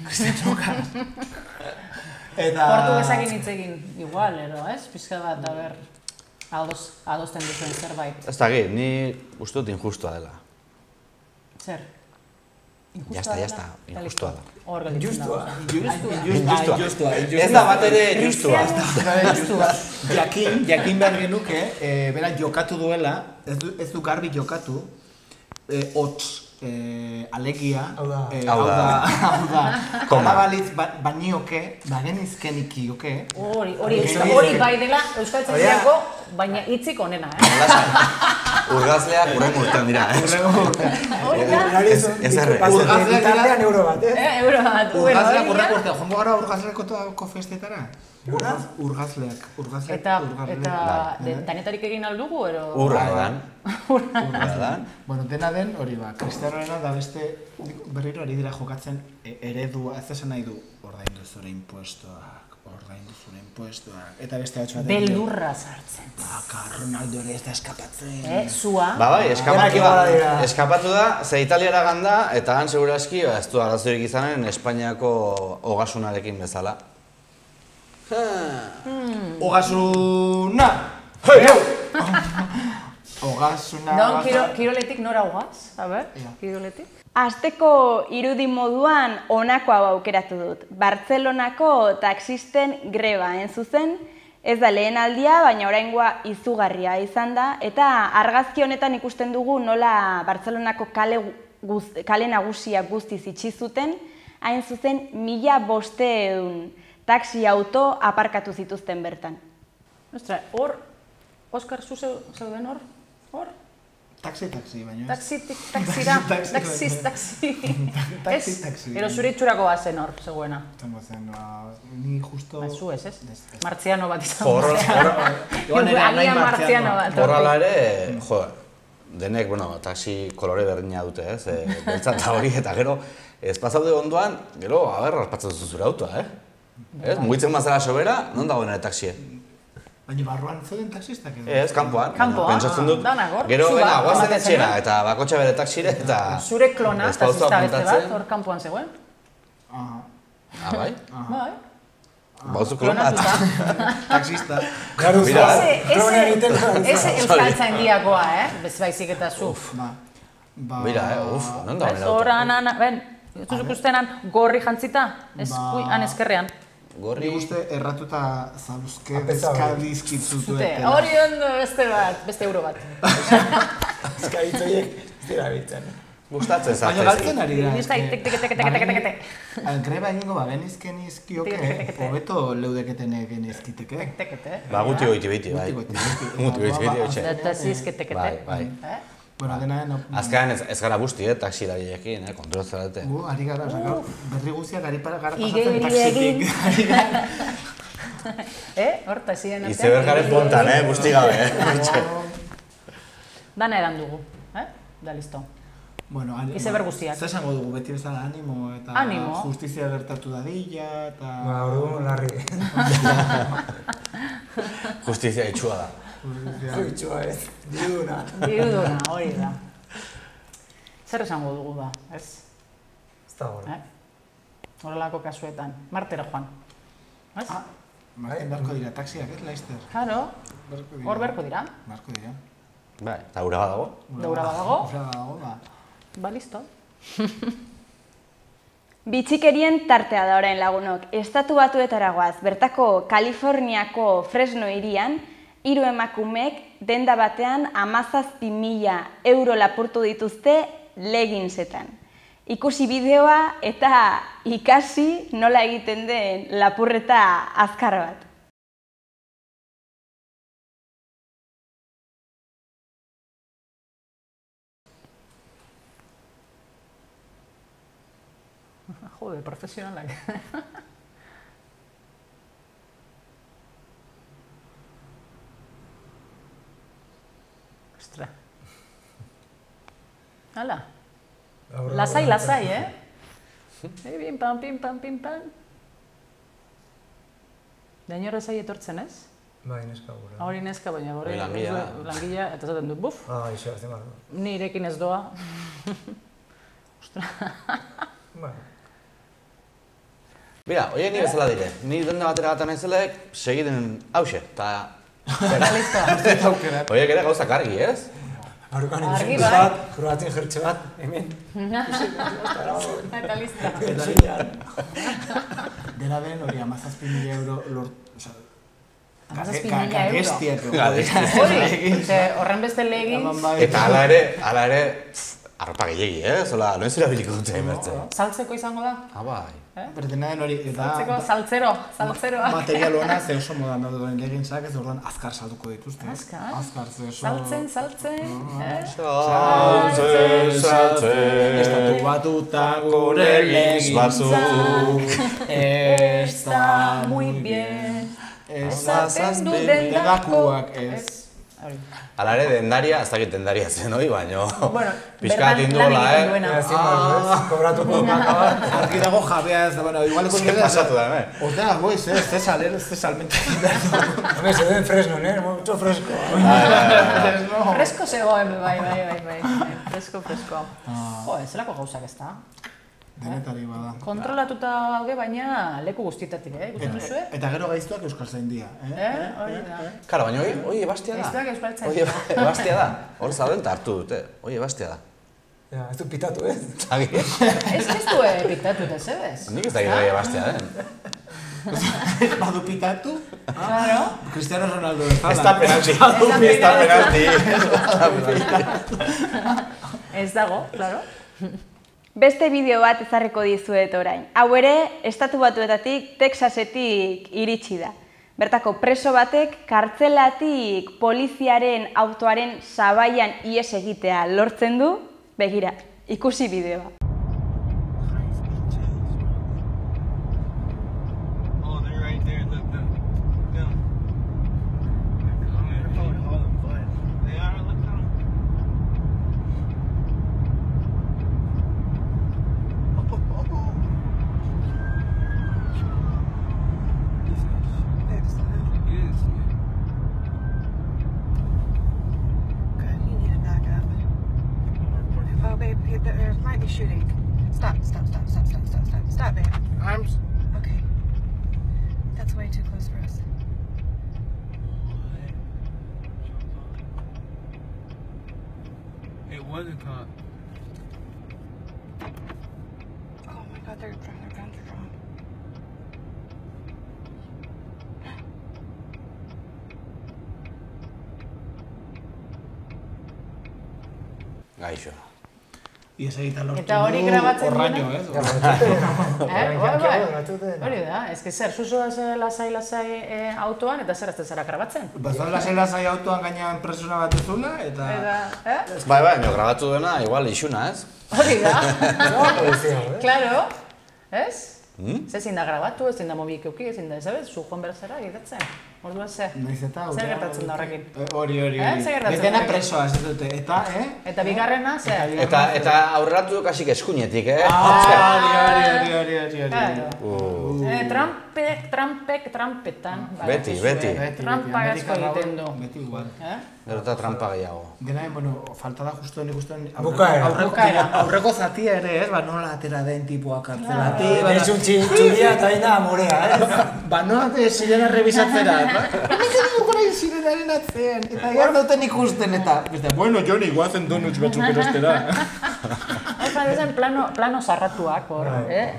Cristiano gaixoa. Portugesakin hitz egin, igual, ez? Pizka bat, ber, adosten duzuen zerbait. Ez da, ni uste dut injustua dela. Zer? Jazta, injustua da. Hor gelditzen da. Justua. Ez da bat ere justua. Jakin behar genuke, bera jokatu duela, ez du garbi jokatu, hots, alegia, hau da, alabalitz banioke, bagenizkeniki joke. Hori bai dela Euskaltzaindiako, baina hitzik onena, Urgazleak urrengo urtean dira, Ez erre. Urgazleak euro bat, Urgazleak urrengo urtean, jongo gara urgazleako festetara? Urgazleak. Eta danetarik egin aldugu, ero? Urradan. Bueno, dena den hori ba, Cristianoena da beste berriro ari dira jokatzen eredua, ez esan nahi du ordaindu zure impuestoak, eta beste batxo bat... Beldurra sartzen. Ronaldo ere ez da eskapatzen. Zua. Bai, eskapatu da, ze Italiara ganda, eta han segurazki, ez du arazorik izanen Espainiako ogasunarekin bezala. Ogasuna! Ogasuna... Don, kiroletik nora ogaz? A ber, kiroletik? Asteko irudi moduan honako hau aukeratu dut. Bartzelonako taxisten greba zuzen, ez da lehen aldia, baina oraingoa izugarria izan da, eta argazki honetan ikusten dugu nola Bartzelonako kale nagusiak guztiz itxi zuten, hain zuzen 1500 taxi auto aparkatu zituzten bertan. Ostra, hor, Oskar, zu zeuden hor? Hor? Taxi, baina ez. Taxi. Ero zure itxurako bazen hor, zegoena. Zango zen, ni justo... Zu ez? Martziano bat izan. Agian Martziano bat. Horrela ere, denek, taxi kolore berdina dute, beltza eta hori, eta gero, ez pasaude ondoan, gero, raspatzen duzu zure autoa, mugitzen mazera sobera, non dagoen ere taxie? Baina barruan zeuden taxistak edo? Ez, kanpoan. Pentsatzen dut, danak hor. gero, guazen etxera, eta bakotxa bere taxire, eta... Zure klona, taxista beste bat, hor kanpoan zegoen? Bai? Bai. Bauzu klona, taxista. Ese Euskaltzaindiakoa, bez baizik eta zu. Mira, non da honera auto? Ben, ez duzuk ustenan gorri jantzita, han eskerrean. Ni uste erratuta zauzke bezkadizkitzu duetela. Hori ondo beste euro bat. Eskabitzoiek ez dira bitzen. Gustatzen zaten. Baina galtzen ari da. Greba egingo genizken izkioke, hobeto leudeketen genizkiteke. Guti goiti biti, bai. Guti goiti biti. Eta zizketekete. Bai. Bueno, dena azkenean ez gara busti, taxilariekin, kontrolatzen dute. Ari gara, berri guztiak ari gara pasatzen taxitik. Hor, taxien artean. Izeber garen pontan, busti gabe. Dana edan dugu, da listo. Izeber guztiak. Zer esango dugu, beti bezala animo eta justizia gertatu dadila eta... Orduan, larri. Justizia itxua da. Itxua ez, diruduna. Diruduna, hori da. Zer esango dugu da, ez? Ez da hori. Horrelako kasuetan. Martera joan. Ez? Marten beharko dira, taxiak, ez, Laizter? Claro. Hor beharko dira. Beharko dira. Bai, eta ura badago. Ura badago. Ura badago, ba. Ba, listo. Bitxikerien tartea da orain lagunok. Estatu Batuetara goaz, bertako Kaliforniako Fresno hirian, 3 emakumeek denda batean 17.000 euro lapurtu dituzte leggingsetan. Ikusi bideoa eta ikasi nola egiten den lapurreta azkar bat. Jode, profesionalak. Ostra. Hala. Lasai, lasai, Pim, pam, pim, pam, pim, pam. Daino horrezai etortzen, ez? Bai, neska gura. Hori neska, baina hori langila, eta zaten du, buf. Iso, azte mar. Ni irekin ez doa. Ostra. Bira, oie ni bezala dire. Ni denda batera gata nahizelek, segiten hause, eta... Oiek ere gauzak argi, ez? Argan ikusen bat, kroatin jertxe bat, hemen. Eta lista. Dela den hori 17.000 euro lort... 17.000 euro? Horren beste legin... Eta ala ere, arropa gehiagi, zola, noen zera biliko dute emertzen. Saltzeko izango da? Bai. Berdena den hori, eta... Saltzeko, saltzeroa. Material hona, ze oso modan daude duen legintzak, ez orduan azkar salduko dituzte. Azkar? Azkar, ze oso... Saltzen. Saltzen. Estatu batuta gure legintzak. Está muy bien. Esaten du dendakoak, ez. Ala ere, dendaria, ez dakit dendaria zen hori, baina... Pizkat induela, Kobratuko bat. Argi dago jabea ez da, bueno, igual... Zer pasatu da, Ostea, goiz, ez salmente. Hame, se den fresno, mucho fresco. Fresko zegoen, bai. Fresko. Jo, ez zelako gauzak ez da. Denetari bada. Kontrolatuta gaude, baina leku guztietatik, ikusten duzue? Eta gero gaiztuak euskaltzaindia, Hori da. Karo, baina hori ebastia da. Gaiztuak euskaltzaindia. Hori ebastia da. Hor zauden eta hartu dute. Hori ebastia da. Ez du pitatu, ez? Zagi? Ez du pitatu, ez ebez? Nik ez dakit hori ebastia den. Badu pitatu? Claro. Cristiano Ronaldo bezala. Ez da penalti. Ez dago, claro. Beste bideo bat ezarriko dizuet orain. Hau ere, Estatu Batuetatik, Texasetik iritsi da. Bertako preso batek kartzelatik poliziaren autoaren sabaian ihes egitea lortzen du. Begira, ikusi bideoa. There might be shooting. Stop, babe. Arms. Okay. That's way too close for us. It wasn't caught. Oh my god, their guns are drawn. Gaixo. Eta hori grabatzen orraino, Hori da, ez que zer, zuzoa lasai autoan eta zer ez zara grabatzen? Bazan lasai autoan gainean presuna bat ezula, eta... Bai, grabatu duena, igual isuna, ez? Hori da. Claro, ez? Ezin da grabatu, ezin da mobik euki, ezin da, ez zu joan berazera egitatzen. Orduan ze? Zer gertatzen da horrekin? Hori. Zer gertatzen da? Dena presoa, ez dute, eta, Eta bigarrena, ze? Eta aurreratu duk hasik eskuinetik, Trampetan. Beti. Trampa asko egiten du. Beti igual. Gero eta trampa gehiago. Dena, falta da justu nik ustean... Bukaera. Aurreko zatia ere, ez? Nola atera den tipua kartzelatik. Ez un txuria eta aina amorea, Nola sirena rebisatzera, Hemen dugu nahi sirenaren atzean. Eta gara duten ikusten, eta... Bueno, Joni, guazen donuts batzuk erostera. Ezen plano zarratuak,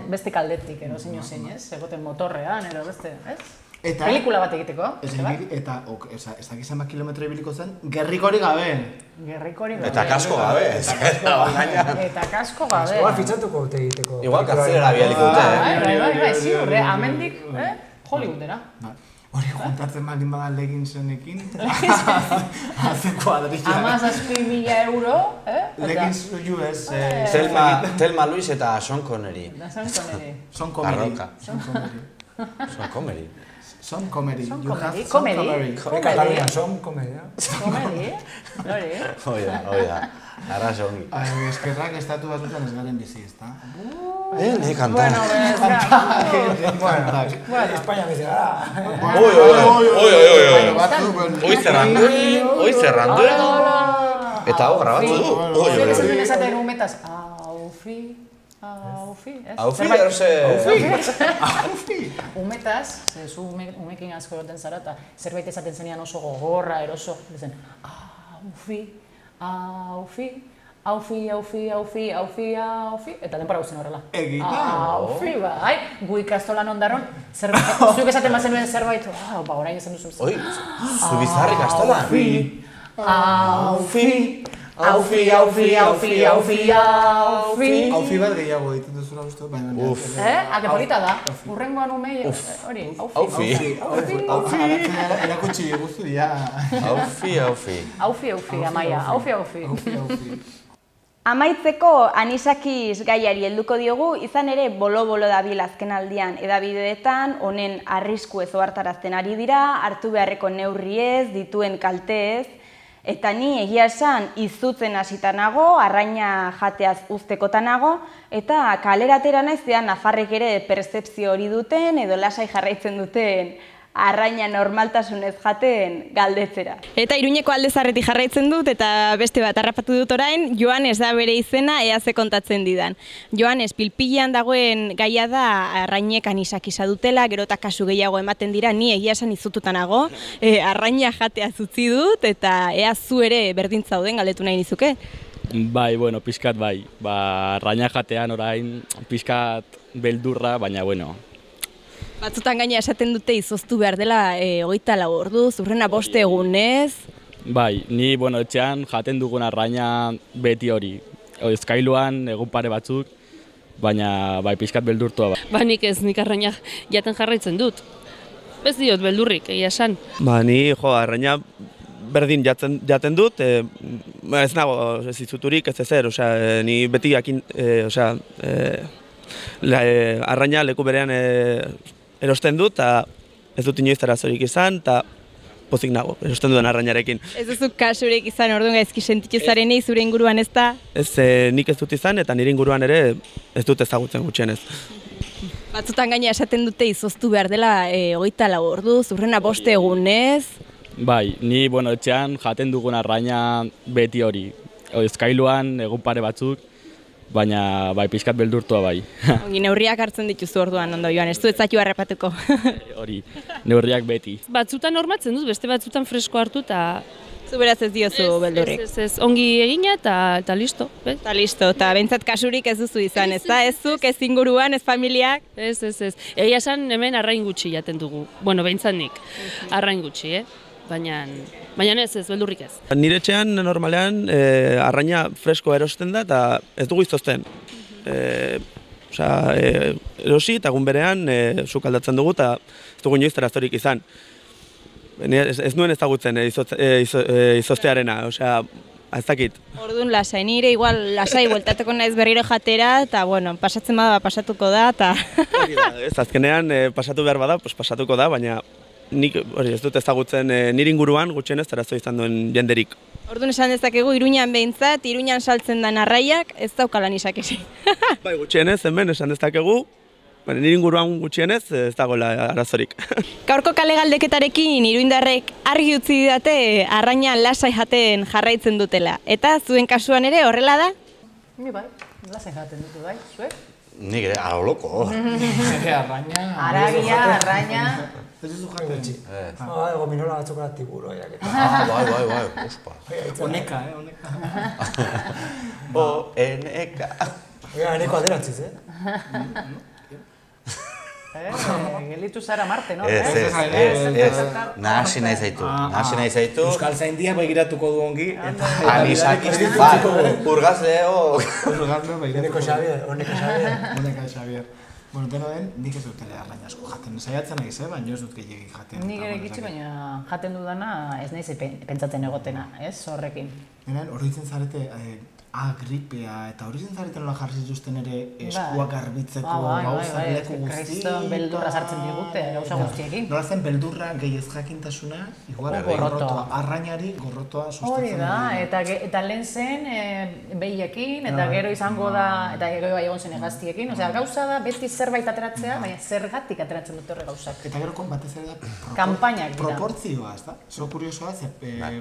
beste kaldetik, zein zein, ez? Egoten motorrean, beste, ez? Pelikula bat egiteko, eta, ez dakizan bat kilometro ibiliko zen, gerrikorik gabe. Eta kasko gabe. Eta kasko gabe. Igual fitxatuko dute egiteko. Igual kartzera bialiko dute, Bai, ziur, amendik, Hollywoodera. Hori juntatzen baldin bada leggingsenekin, haze kuadrilla. 17.000 euro, Leggings US. Thelma Luis eta Sean Connery. Sean Connery. Son comedy. Katalunian, son comedy. Comedy, hori. Oida, arraso ongi. Eskerrak estatu batutan ez garen bizi, ezta? Ni kantan. Bueno, España bizi gara. Oi zerrandu. Eta hau grabatu du. Zer esaten esaten umetaz, aufi, ez? Aufi, Umetaz, zu umekin asko egoten zara, eta zerbait esaten zenean oso gogorra, eroso, zen, aufi, eta denpora guztien horrela. Aufi, bai, gu ikastolan ondaron, zuek esaten bazenuen zerbait, orain esan duzu. Oi, zu bizarri ikastolan. Aufi. Aufi bat gehiago egiten duzula uste, baina... Ake polita da, urrengoan umei, hori, aufi. Erakutsi guztu, ja. Aufi. Amaia, aufi. Amaitzeko anisakiz gaiari helduko diogu, izan ere bolo-bolo dabil azken aldian edabideetan, honen arrisku ez ohartarazten ari dira, hartu beharreko neurriez, dituen kalteez, eta ni egia esan izutzen hasita nago, arraina jateaz uztekotan nago, eta kaleratera naizean nafarrek ere pertzepzio hori duten, edo lasai jarraitzen duten arraina normaltasunez jaten galdetzera. Eta Iruñeko Aldezarretik jarraitzen dut, eta beste bat harrapatu dut orain, Joanes da bere izena, ea ze kontatzen didan. Joanes, pilpilean dagoen gaia da arrainek anisakisa dutela, gero eta kasu gehiago ematen dira, ni egia esan izututan nago, arraina jatea utzi dut, eta ea zu ere berdin zauden galdetu nahi nizuke? Bai, bueno, pixkat bai. Arraina jatean orain pixkat beldurra, baina bueno. Batzutan gaina esaten dute izoztu behar dela 24 orduz, urrena 5 egunez. Bai, ni etxean jaten dugun arraina beti hori. Eskailuan egun pare batzuk, baina bai pixkat beldurtua. Nik ez, nik arraina jaten jarraitzen dut. Ez diot beldurrik, egia esan. Ni arraina berdin jaten dut, ez nago ez izuturik, ez ezer, ni beti jakin, arraina leku berean erosten dut, eta ez dut inoiz arazorik izan, eta pozik nago, erosten duen arrainarekin. Ez duzu kasurik izan orduan gaizki sentitu zarenei zure inguruan ez da? Ez, nik ez dut izan, eta nire inguruan ere ez dut ezagutzen gutxienez. Batzutan gaina esaten dute izoztu behar dela 24 orduz, urrena 5 egunez. Bai, ni etxean jaten dugun arraina beti hori. Eskailuan egun pare batzuk, baina bai pixkat beldurtua bai. Ongi, neurriak hartzen dituzu orduan, ondo Joan, ez du etzatu harrapatuko. Hori, neurriak beti. Batzutan hormatzen duz, beste batzutan fresko hartu eta... Zu beraz ez diozu beldurrik. Ez, ongi egina eta listo. Eta listo, eta bentsat kasurik ez duzu izan, ez da? Ez zuk, ez inguruan, ez familiak? Ez. Egia esan hemen arrain gutxi jaten dugu. Bueno, bentsat nik, arrain gutxi, Baina ez, beldurrik ez. Nire etxean normalean arraina fresko erosten da eta ez dugu izozten. Erosi eta egun berean sukaldatzen dugu eta ez dugu inoiz arazorik izan. Ez nuen ezagutzen izoztearena, ez dakit. Orduan lasai, nire igual lasai bueltateko naiz berriro jatera eta pasatzen bada pasatuko da eta... Ez azkenean pasatu behar bada, pasatuko da, baina nik ez dut ezagutzen nire inguruan gutxienez arazo izan duen jenderik. Orduan esan dezakegu Iruñan behintzat, Iruñan saltzen den arraiak ez daukala anisakisi. Bai, gutxienez hemen esan dezakegu, nire inguruan gutxienez ez dagoela arazorik. Gaurko kale galdeketarekin iruindarrek argi utzi didate arraina lasai jaten jarraitzen dutela. Eta zuen kasuan ere horrela da? Ni bai, lasai jaten dutu bai, zuek? Nik ere, alo loko. Arraina... Aragia, arraina... Ez duzu jaten? Gominola batzuk gara tiburoiak. Bai, ospa. Oneka, O-N-E-K. Eneko aderatziz, Gelitu zara Marte, no? Ez. Nahasi nahi zaitu. Euskal Zaindiak begiratuko du ongi. Anisakiz, bai, urgazleo. Urgazleo begiratuko. Oneka Xavier. Oneka Xavier. Bueno, deno den, nik ez dut ere arraina asko jaten. Saiatzen naiz, baina ez dut gehiagik jaten. Nik ere gitxi, baina jaten dudana ez naiz pentsatzen egotena, ez, horrekin. Oroitzen zarete gripea eta horitzen zareten nola jarri zituzten ere eskuak garbitzeko gauza leku guzti. Kriston beldurra sartzen digute, gauza guztiekin. Nola zen beldurra gehi ez jakintasuna, igual gorrotoa, arrainari gorrotoa sustatzen. Hori da, eta lehen zen behiekin, eta gero izango da, eta gero bai egon zen hegaztiekin. Osea, gauza da beti zerbait ateratzea, baina zergatik ateratzen dute horre gauzak. Eta gero batez ere da kanpainak dira. Proportzioa, ez da? Zo kuriosoa,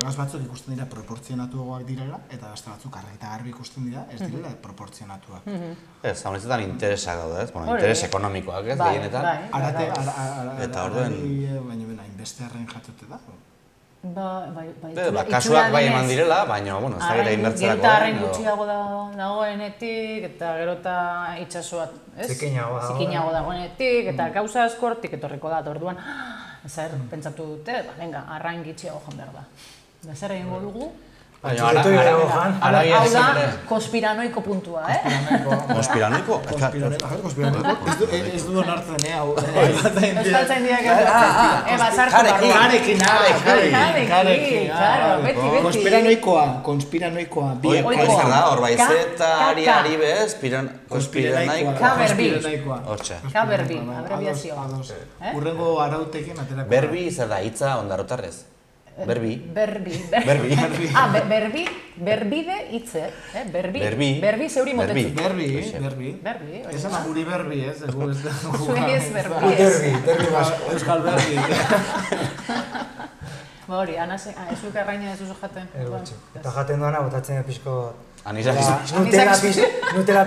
gaz batzuk ikusten dira proportzionatuagoak direla, eta beste batzuk argi ikusten dira, ez direla proportzionatuak. Ez, hau nintzetan interesak daude, ez? Interes ekonomikoak, ez, gehienetan. Eta orduen... Baina, inbeste arrain jatote da? Kasuak bai eman direla, baina, bueno, ez da gero inbertzerako. Gero eta arrain gutxiago dagoenetik, eta gero eta itxasoa, ez? Zikinago dagoenetik, eta gauza askortik etorriko da, orduan, zer, pentsatu dute, venga, arrain gitxiago joan behar da. Zer egingo dugu? Hau da, konspiranoiko puntua, Konspiranoiko? Konspiranoiko? Ez du onartzen, hau. Euskaltzain diak Karekin, konspiranoikoa. Oiko zer da, hor baizetari ari bez, konspiranoikoa. Kaberbi, abreviazioa. Urrengo arautekin aterako. Berbi zer da, hitza ondarotarrez. Berbi. Berbide hitze, berbi zeuri motetzu. Berbi. Ez ama guri berbi, ez? Zuei ez berbi, ez. Euskal berbi. Hori, ez duk arraina ez duzu jaten. Eta jaten duana, botatzen pixko... Nutela pixko. Nutela?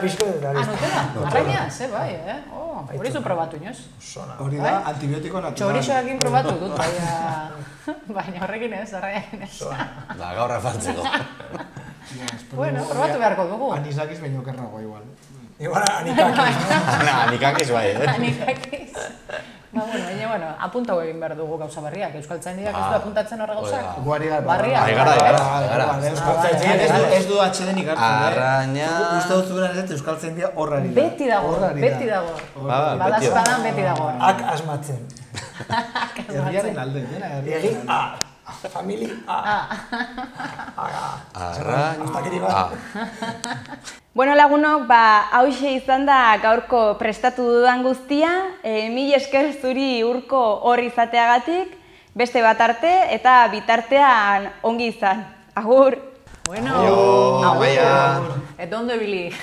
Arraina? Ze bai, hori zu probatu inoz. Hori da, antibiotiko natural. Txorixoakin probatu dut, baina horrekin ez, arraiakin ez. Da, gaur afartzeko. Bueno, probatu beharko dugu. Anisakiz baino kerragoa igual. Igual anikakiz. Anikakiz bai, Anikakiz. Baina, apuntau egin behar dugu gauza barriak. Euskaltzaindiak ez du apuntatzen horre gauzak? Guari gara. Euskaltzaindiak ez du atxedenik hartzen. Arraina... Uste dut zuberan ez Euskaltzaindia horrari da. Beti dago. Badazpadan beti dago. Ak asmatzen. Herriaren alde, dena herriaren alde. Famili Arraina. Bueno, lagunok, hauxe izan da gaurko prestatu dudan guztia. Mil esker zuri Urko hor izateagatik, beste bat arte eta bitartean ongi izan. Agur! Bueno, eta ondo ebili.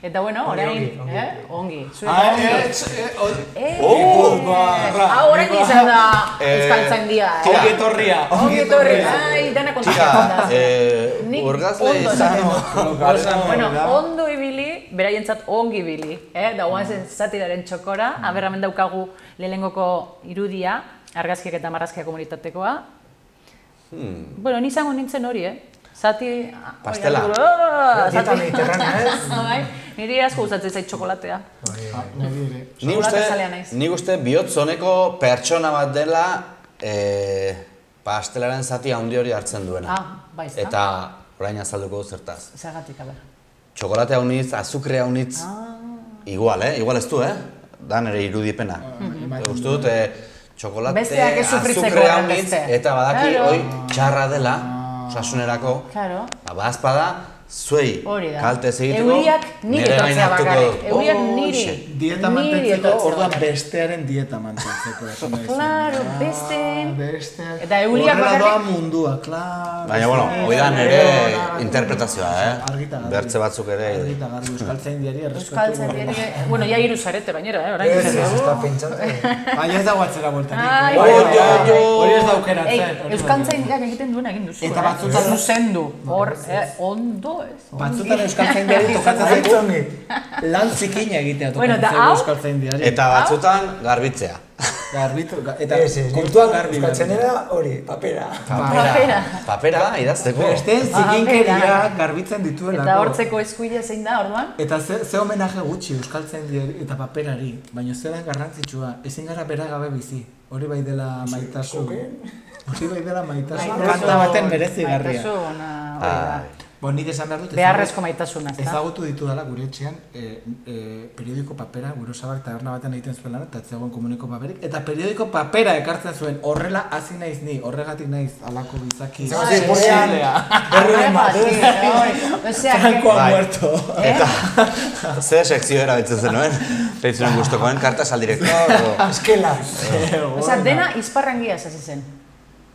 Eta bueno, orain, ongi. Orain izan da Euskaltzaindia. Ongi etorria. Dana kontatzen da. Urgazle izan. Bueno, ondo ibili, beraientzat ongi ibili. Da guazen zatiraren txokora, aberramen daukagu lehenengoko irudia, argazkiak eta marrazkiak komunitatekoa. Bueno, nizango nintzen hori, Zati... Pastela. Dieta mediterranea, ez? Niri asko gustatzen zait txokolatea. Nik uste bihotzoneko pertsona bat dela pastelaren zati handi hori hartzen duena. Eta orain azalduko du zertaz. Zergatik, aber. Txokolate haunitz, azukre haunitz, igual, igual ez du, da nire irudipena. Uste dut, txokolate, azukre haunitz, eta badaki, hoi, txarra dela, osasunerako, bazpada, zuei kalte egiteko, nire gain hartuko du. Euriak niri. Dieta mantentzeko, orduan bestearen dieta mantentzeko. Claro, besteen. Eta euriak bakarrik. Horrela doa mundua, claro. Baina, bueno, hoi da nire interpretazioa, bertze batzuk ere. Argita garbi, Euskaltzaindiari errespetu. Euskaltzaindiari, bueno, ja hiru zarete bainera, orain. Ez da pentsatu. Baina ez dago atzera bueltarik. Hori ez daukeratzen. Euskaltzaindiak egiten duena egin duzu. Eta batzutan zuzendu. Hor, ondo ez. Batzutan Euskaltzaindiari tokatzen zaitu lan zikina egitea tokatzen zaitu Euskaltzaindiari. Eta batzutan garbitzea. Garbitu, eta kontuak garbi. Euskaltzainera hori, papera. Papera, idazteko. Besteen zikinkeria garbitzen dituelako. Eta hortzeko eskuila zein da, orduan? Eta ze homenaje gutxi Euskaltzaindiari eta paperari, baina zelan garrantzitsua, ezin gara bera gabe bizi. Hori bai dela maitasun. Hori bai dela maitasun. Kanta baten merezigarria. Nik esan behar dut, beharrezko maitasuna, ezta? Ezagutu ditu dela gure etxean periodiko papera, gure osabak taberna baten egiten zuen lan, eta zegoen komuniko paperik, eta periodiko papera ekartzen zuen, horrela hasi naiz ni, horregatik naiz alako bizaki. Posiblea. Franco ha muerto. Zer sekzio erabiltzen zenuen? Peitzuen gustokoen, kartas al director? Eskela. Osa, dena izparrangia hasi zen.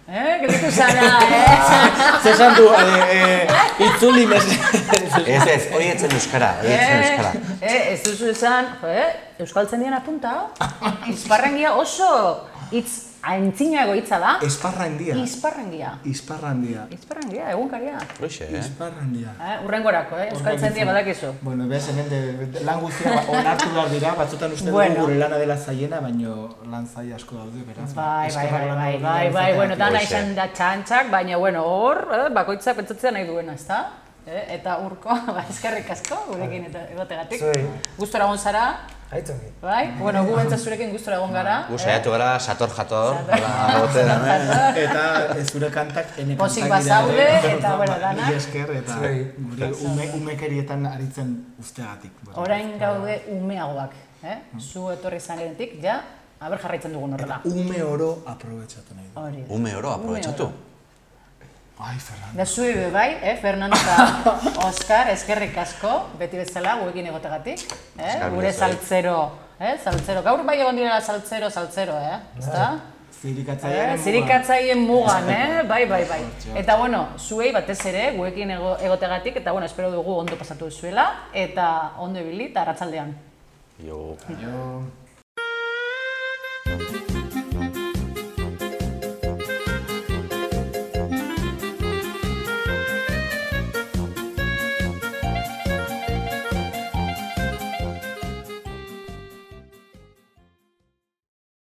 Gelitu zara, Zesan du, itzuli mez... Ez, hori etzen euskara, Ez duzu esan, euskaltzen dian apunta, izparrangia oso hitz aintzinago hitza da. Esparrandia. Izparrandia, egunkaria. Ruxe, Izparrandia. Urrengorako, euskaltzen dia badakizu. Bueno, behaz, hemen lan guztia onartu behar dira, batzutan uste dugu gure lana dela zaiena, baina lan zai asko daude, beraz. Bai, bueno, dana izan da txantxak, baina, bueno, hor, bakoitzak pentsatzea nahi duena, ezta? Eta Urko, eskerrik asko, gurekin egotegatik. Gustora egon zara. Aitzongi. Bai, bueno, gu bentzat zurekin gustora egon gara. Gu saiatu gara, sator-jator. Eta zure kantak ene kantak Pozik bazaude, eta, bueno, danak. Esker, eta gure umekerietan aritzen usteagatik. Orain gaude umeagoak, zu etorri zanetik, ja, aber jarraitzen dugun horrela. Ume oro aprobetxatu nahi du. Ume oro aprobetxatu? Ai, Fernando. Da zui bai, Fernando eta Oskar, eskerrik asko, beti bezala, guekin egotegatik. Gure saltzero, gaur bai egon direla saltzero, ezta? Zirikatzaien mugan, bai. Eta, bueno, zuei batez ere, guekin egotegatik, eta, bueno, espero dugu ondo pasatu zuela, eta ondo ibili, eta arratsaldean. Jo.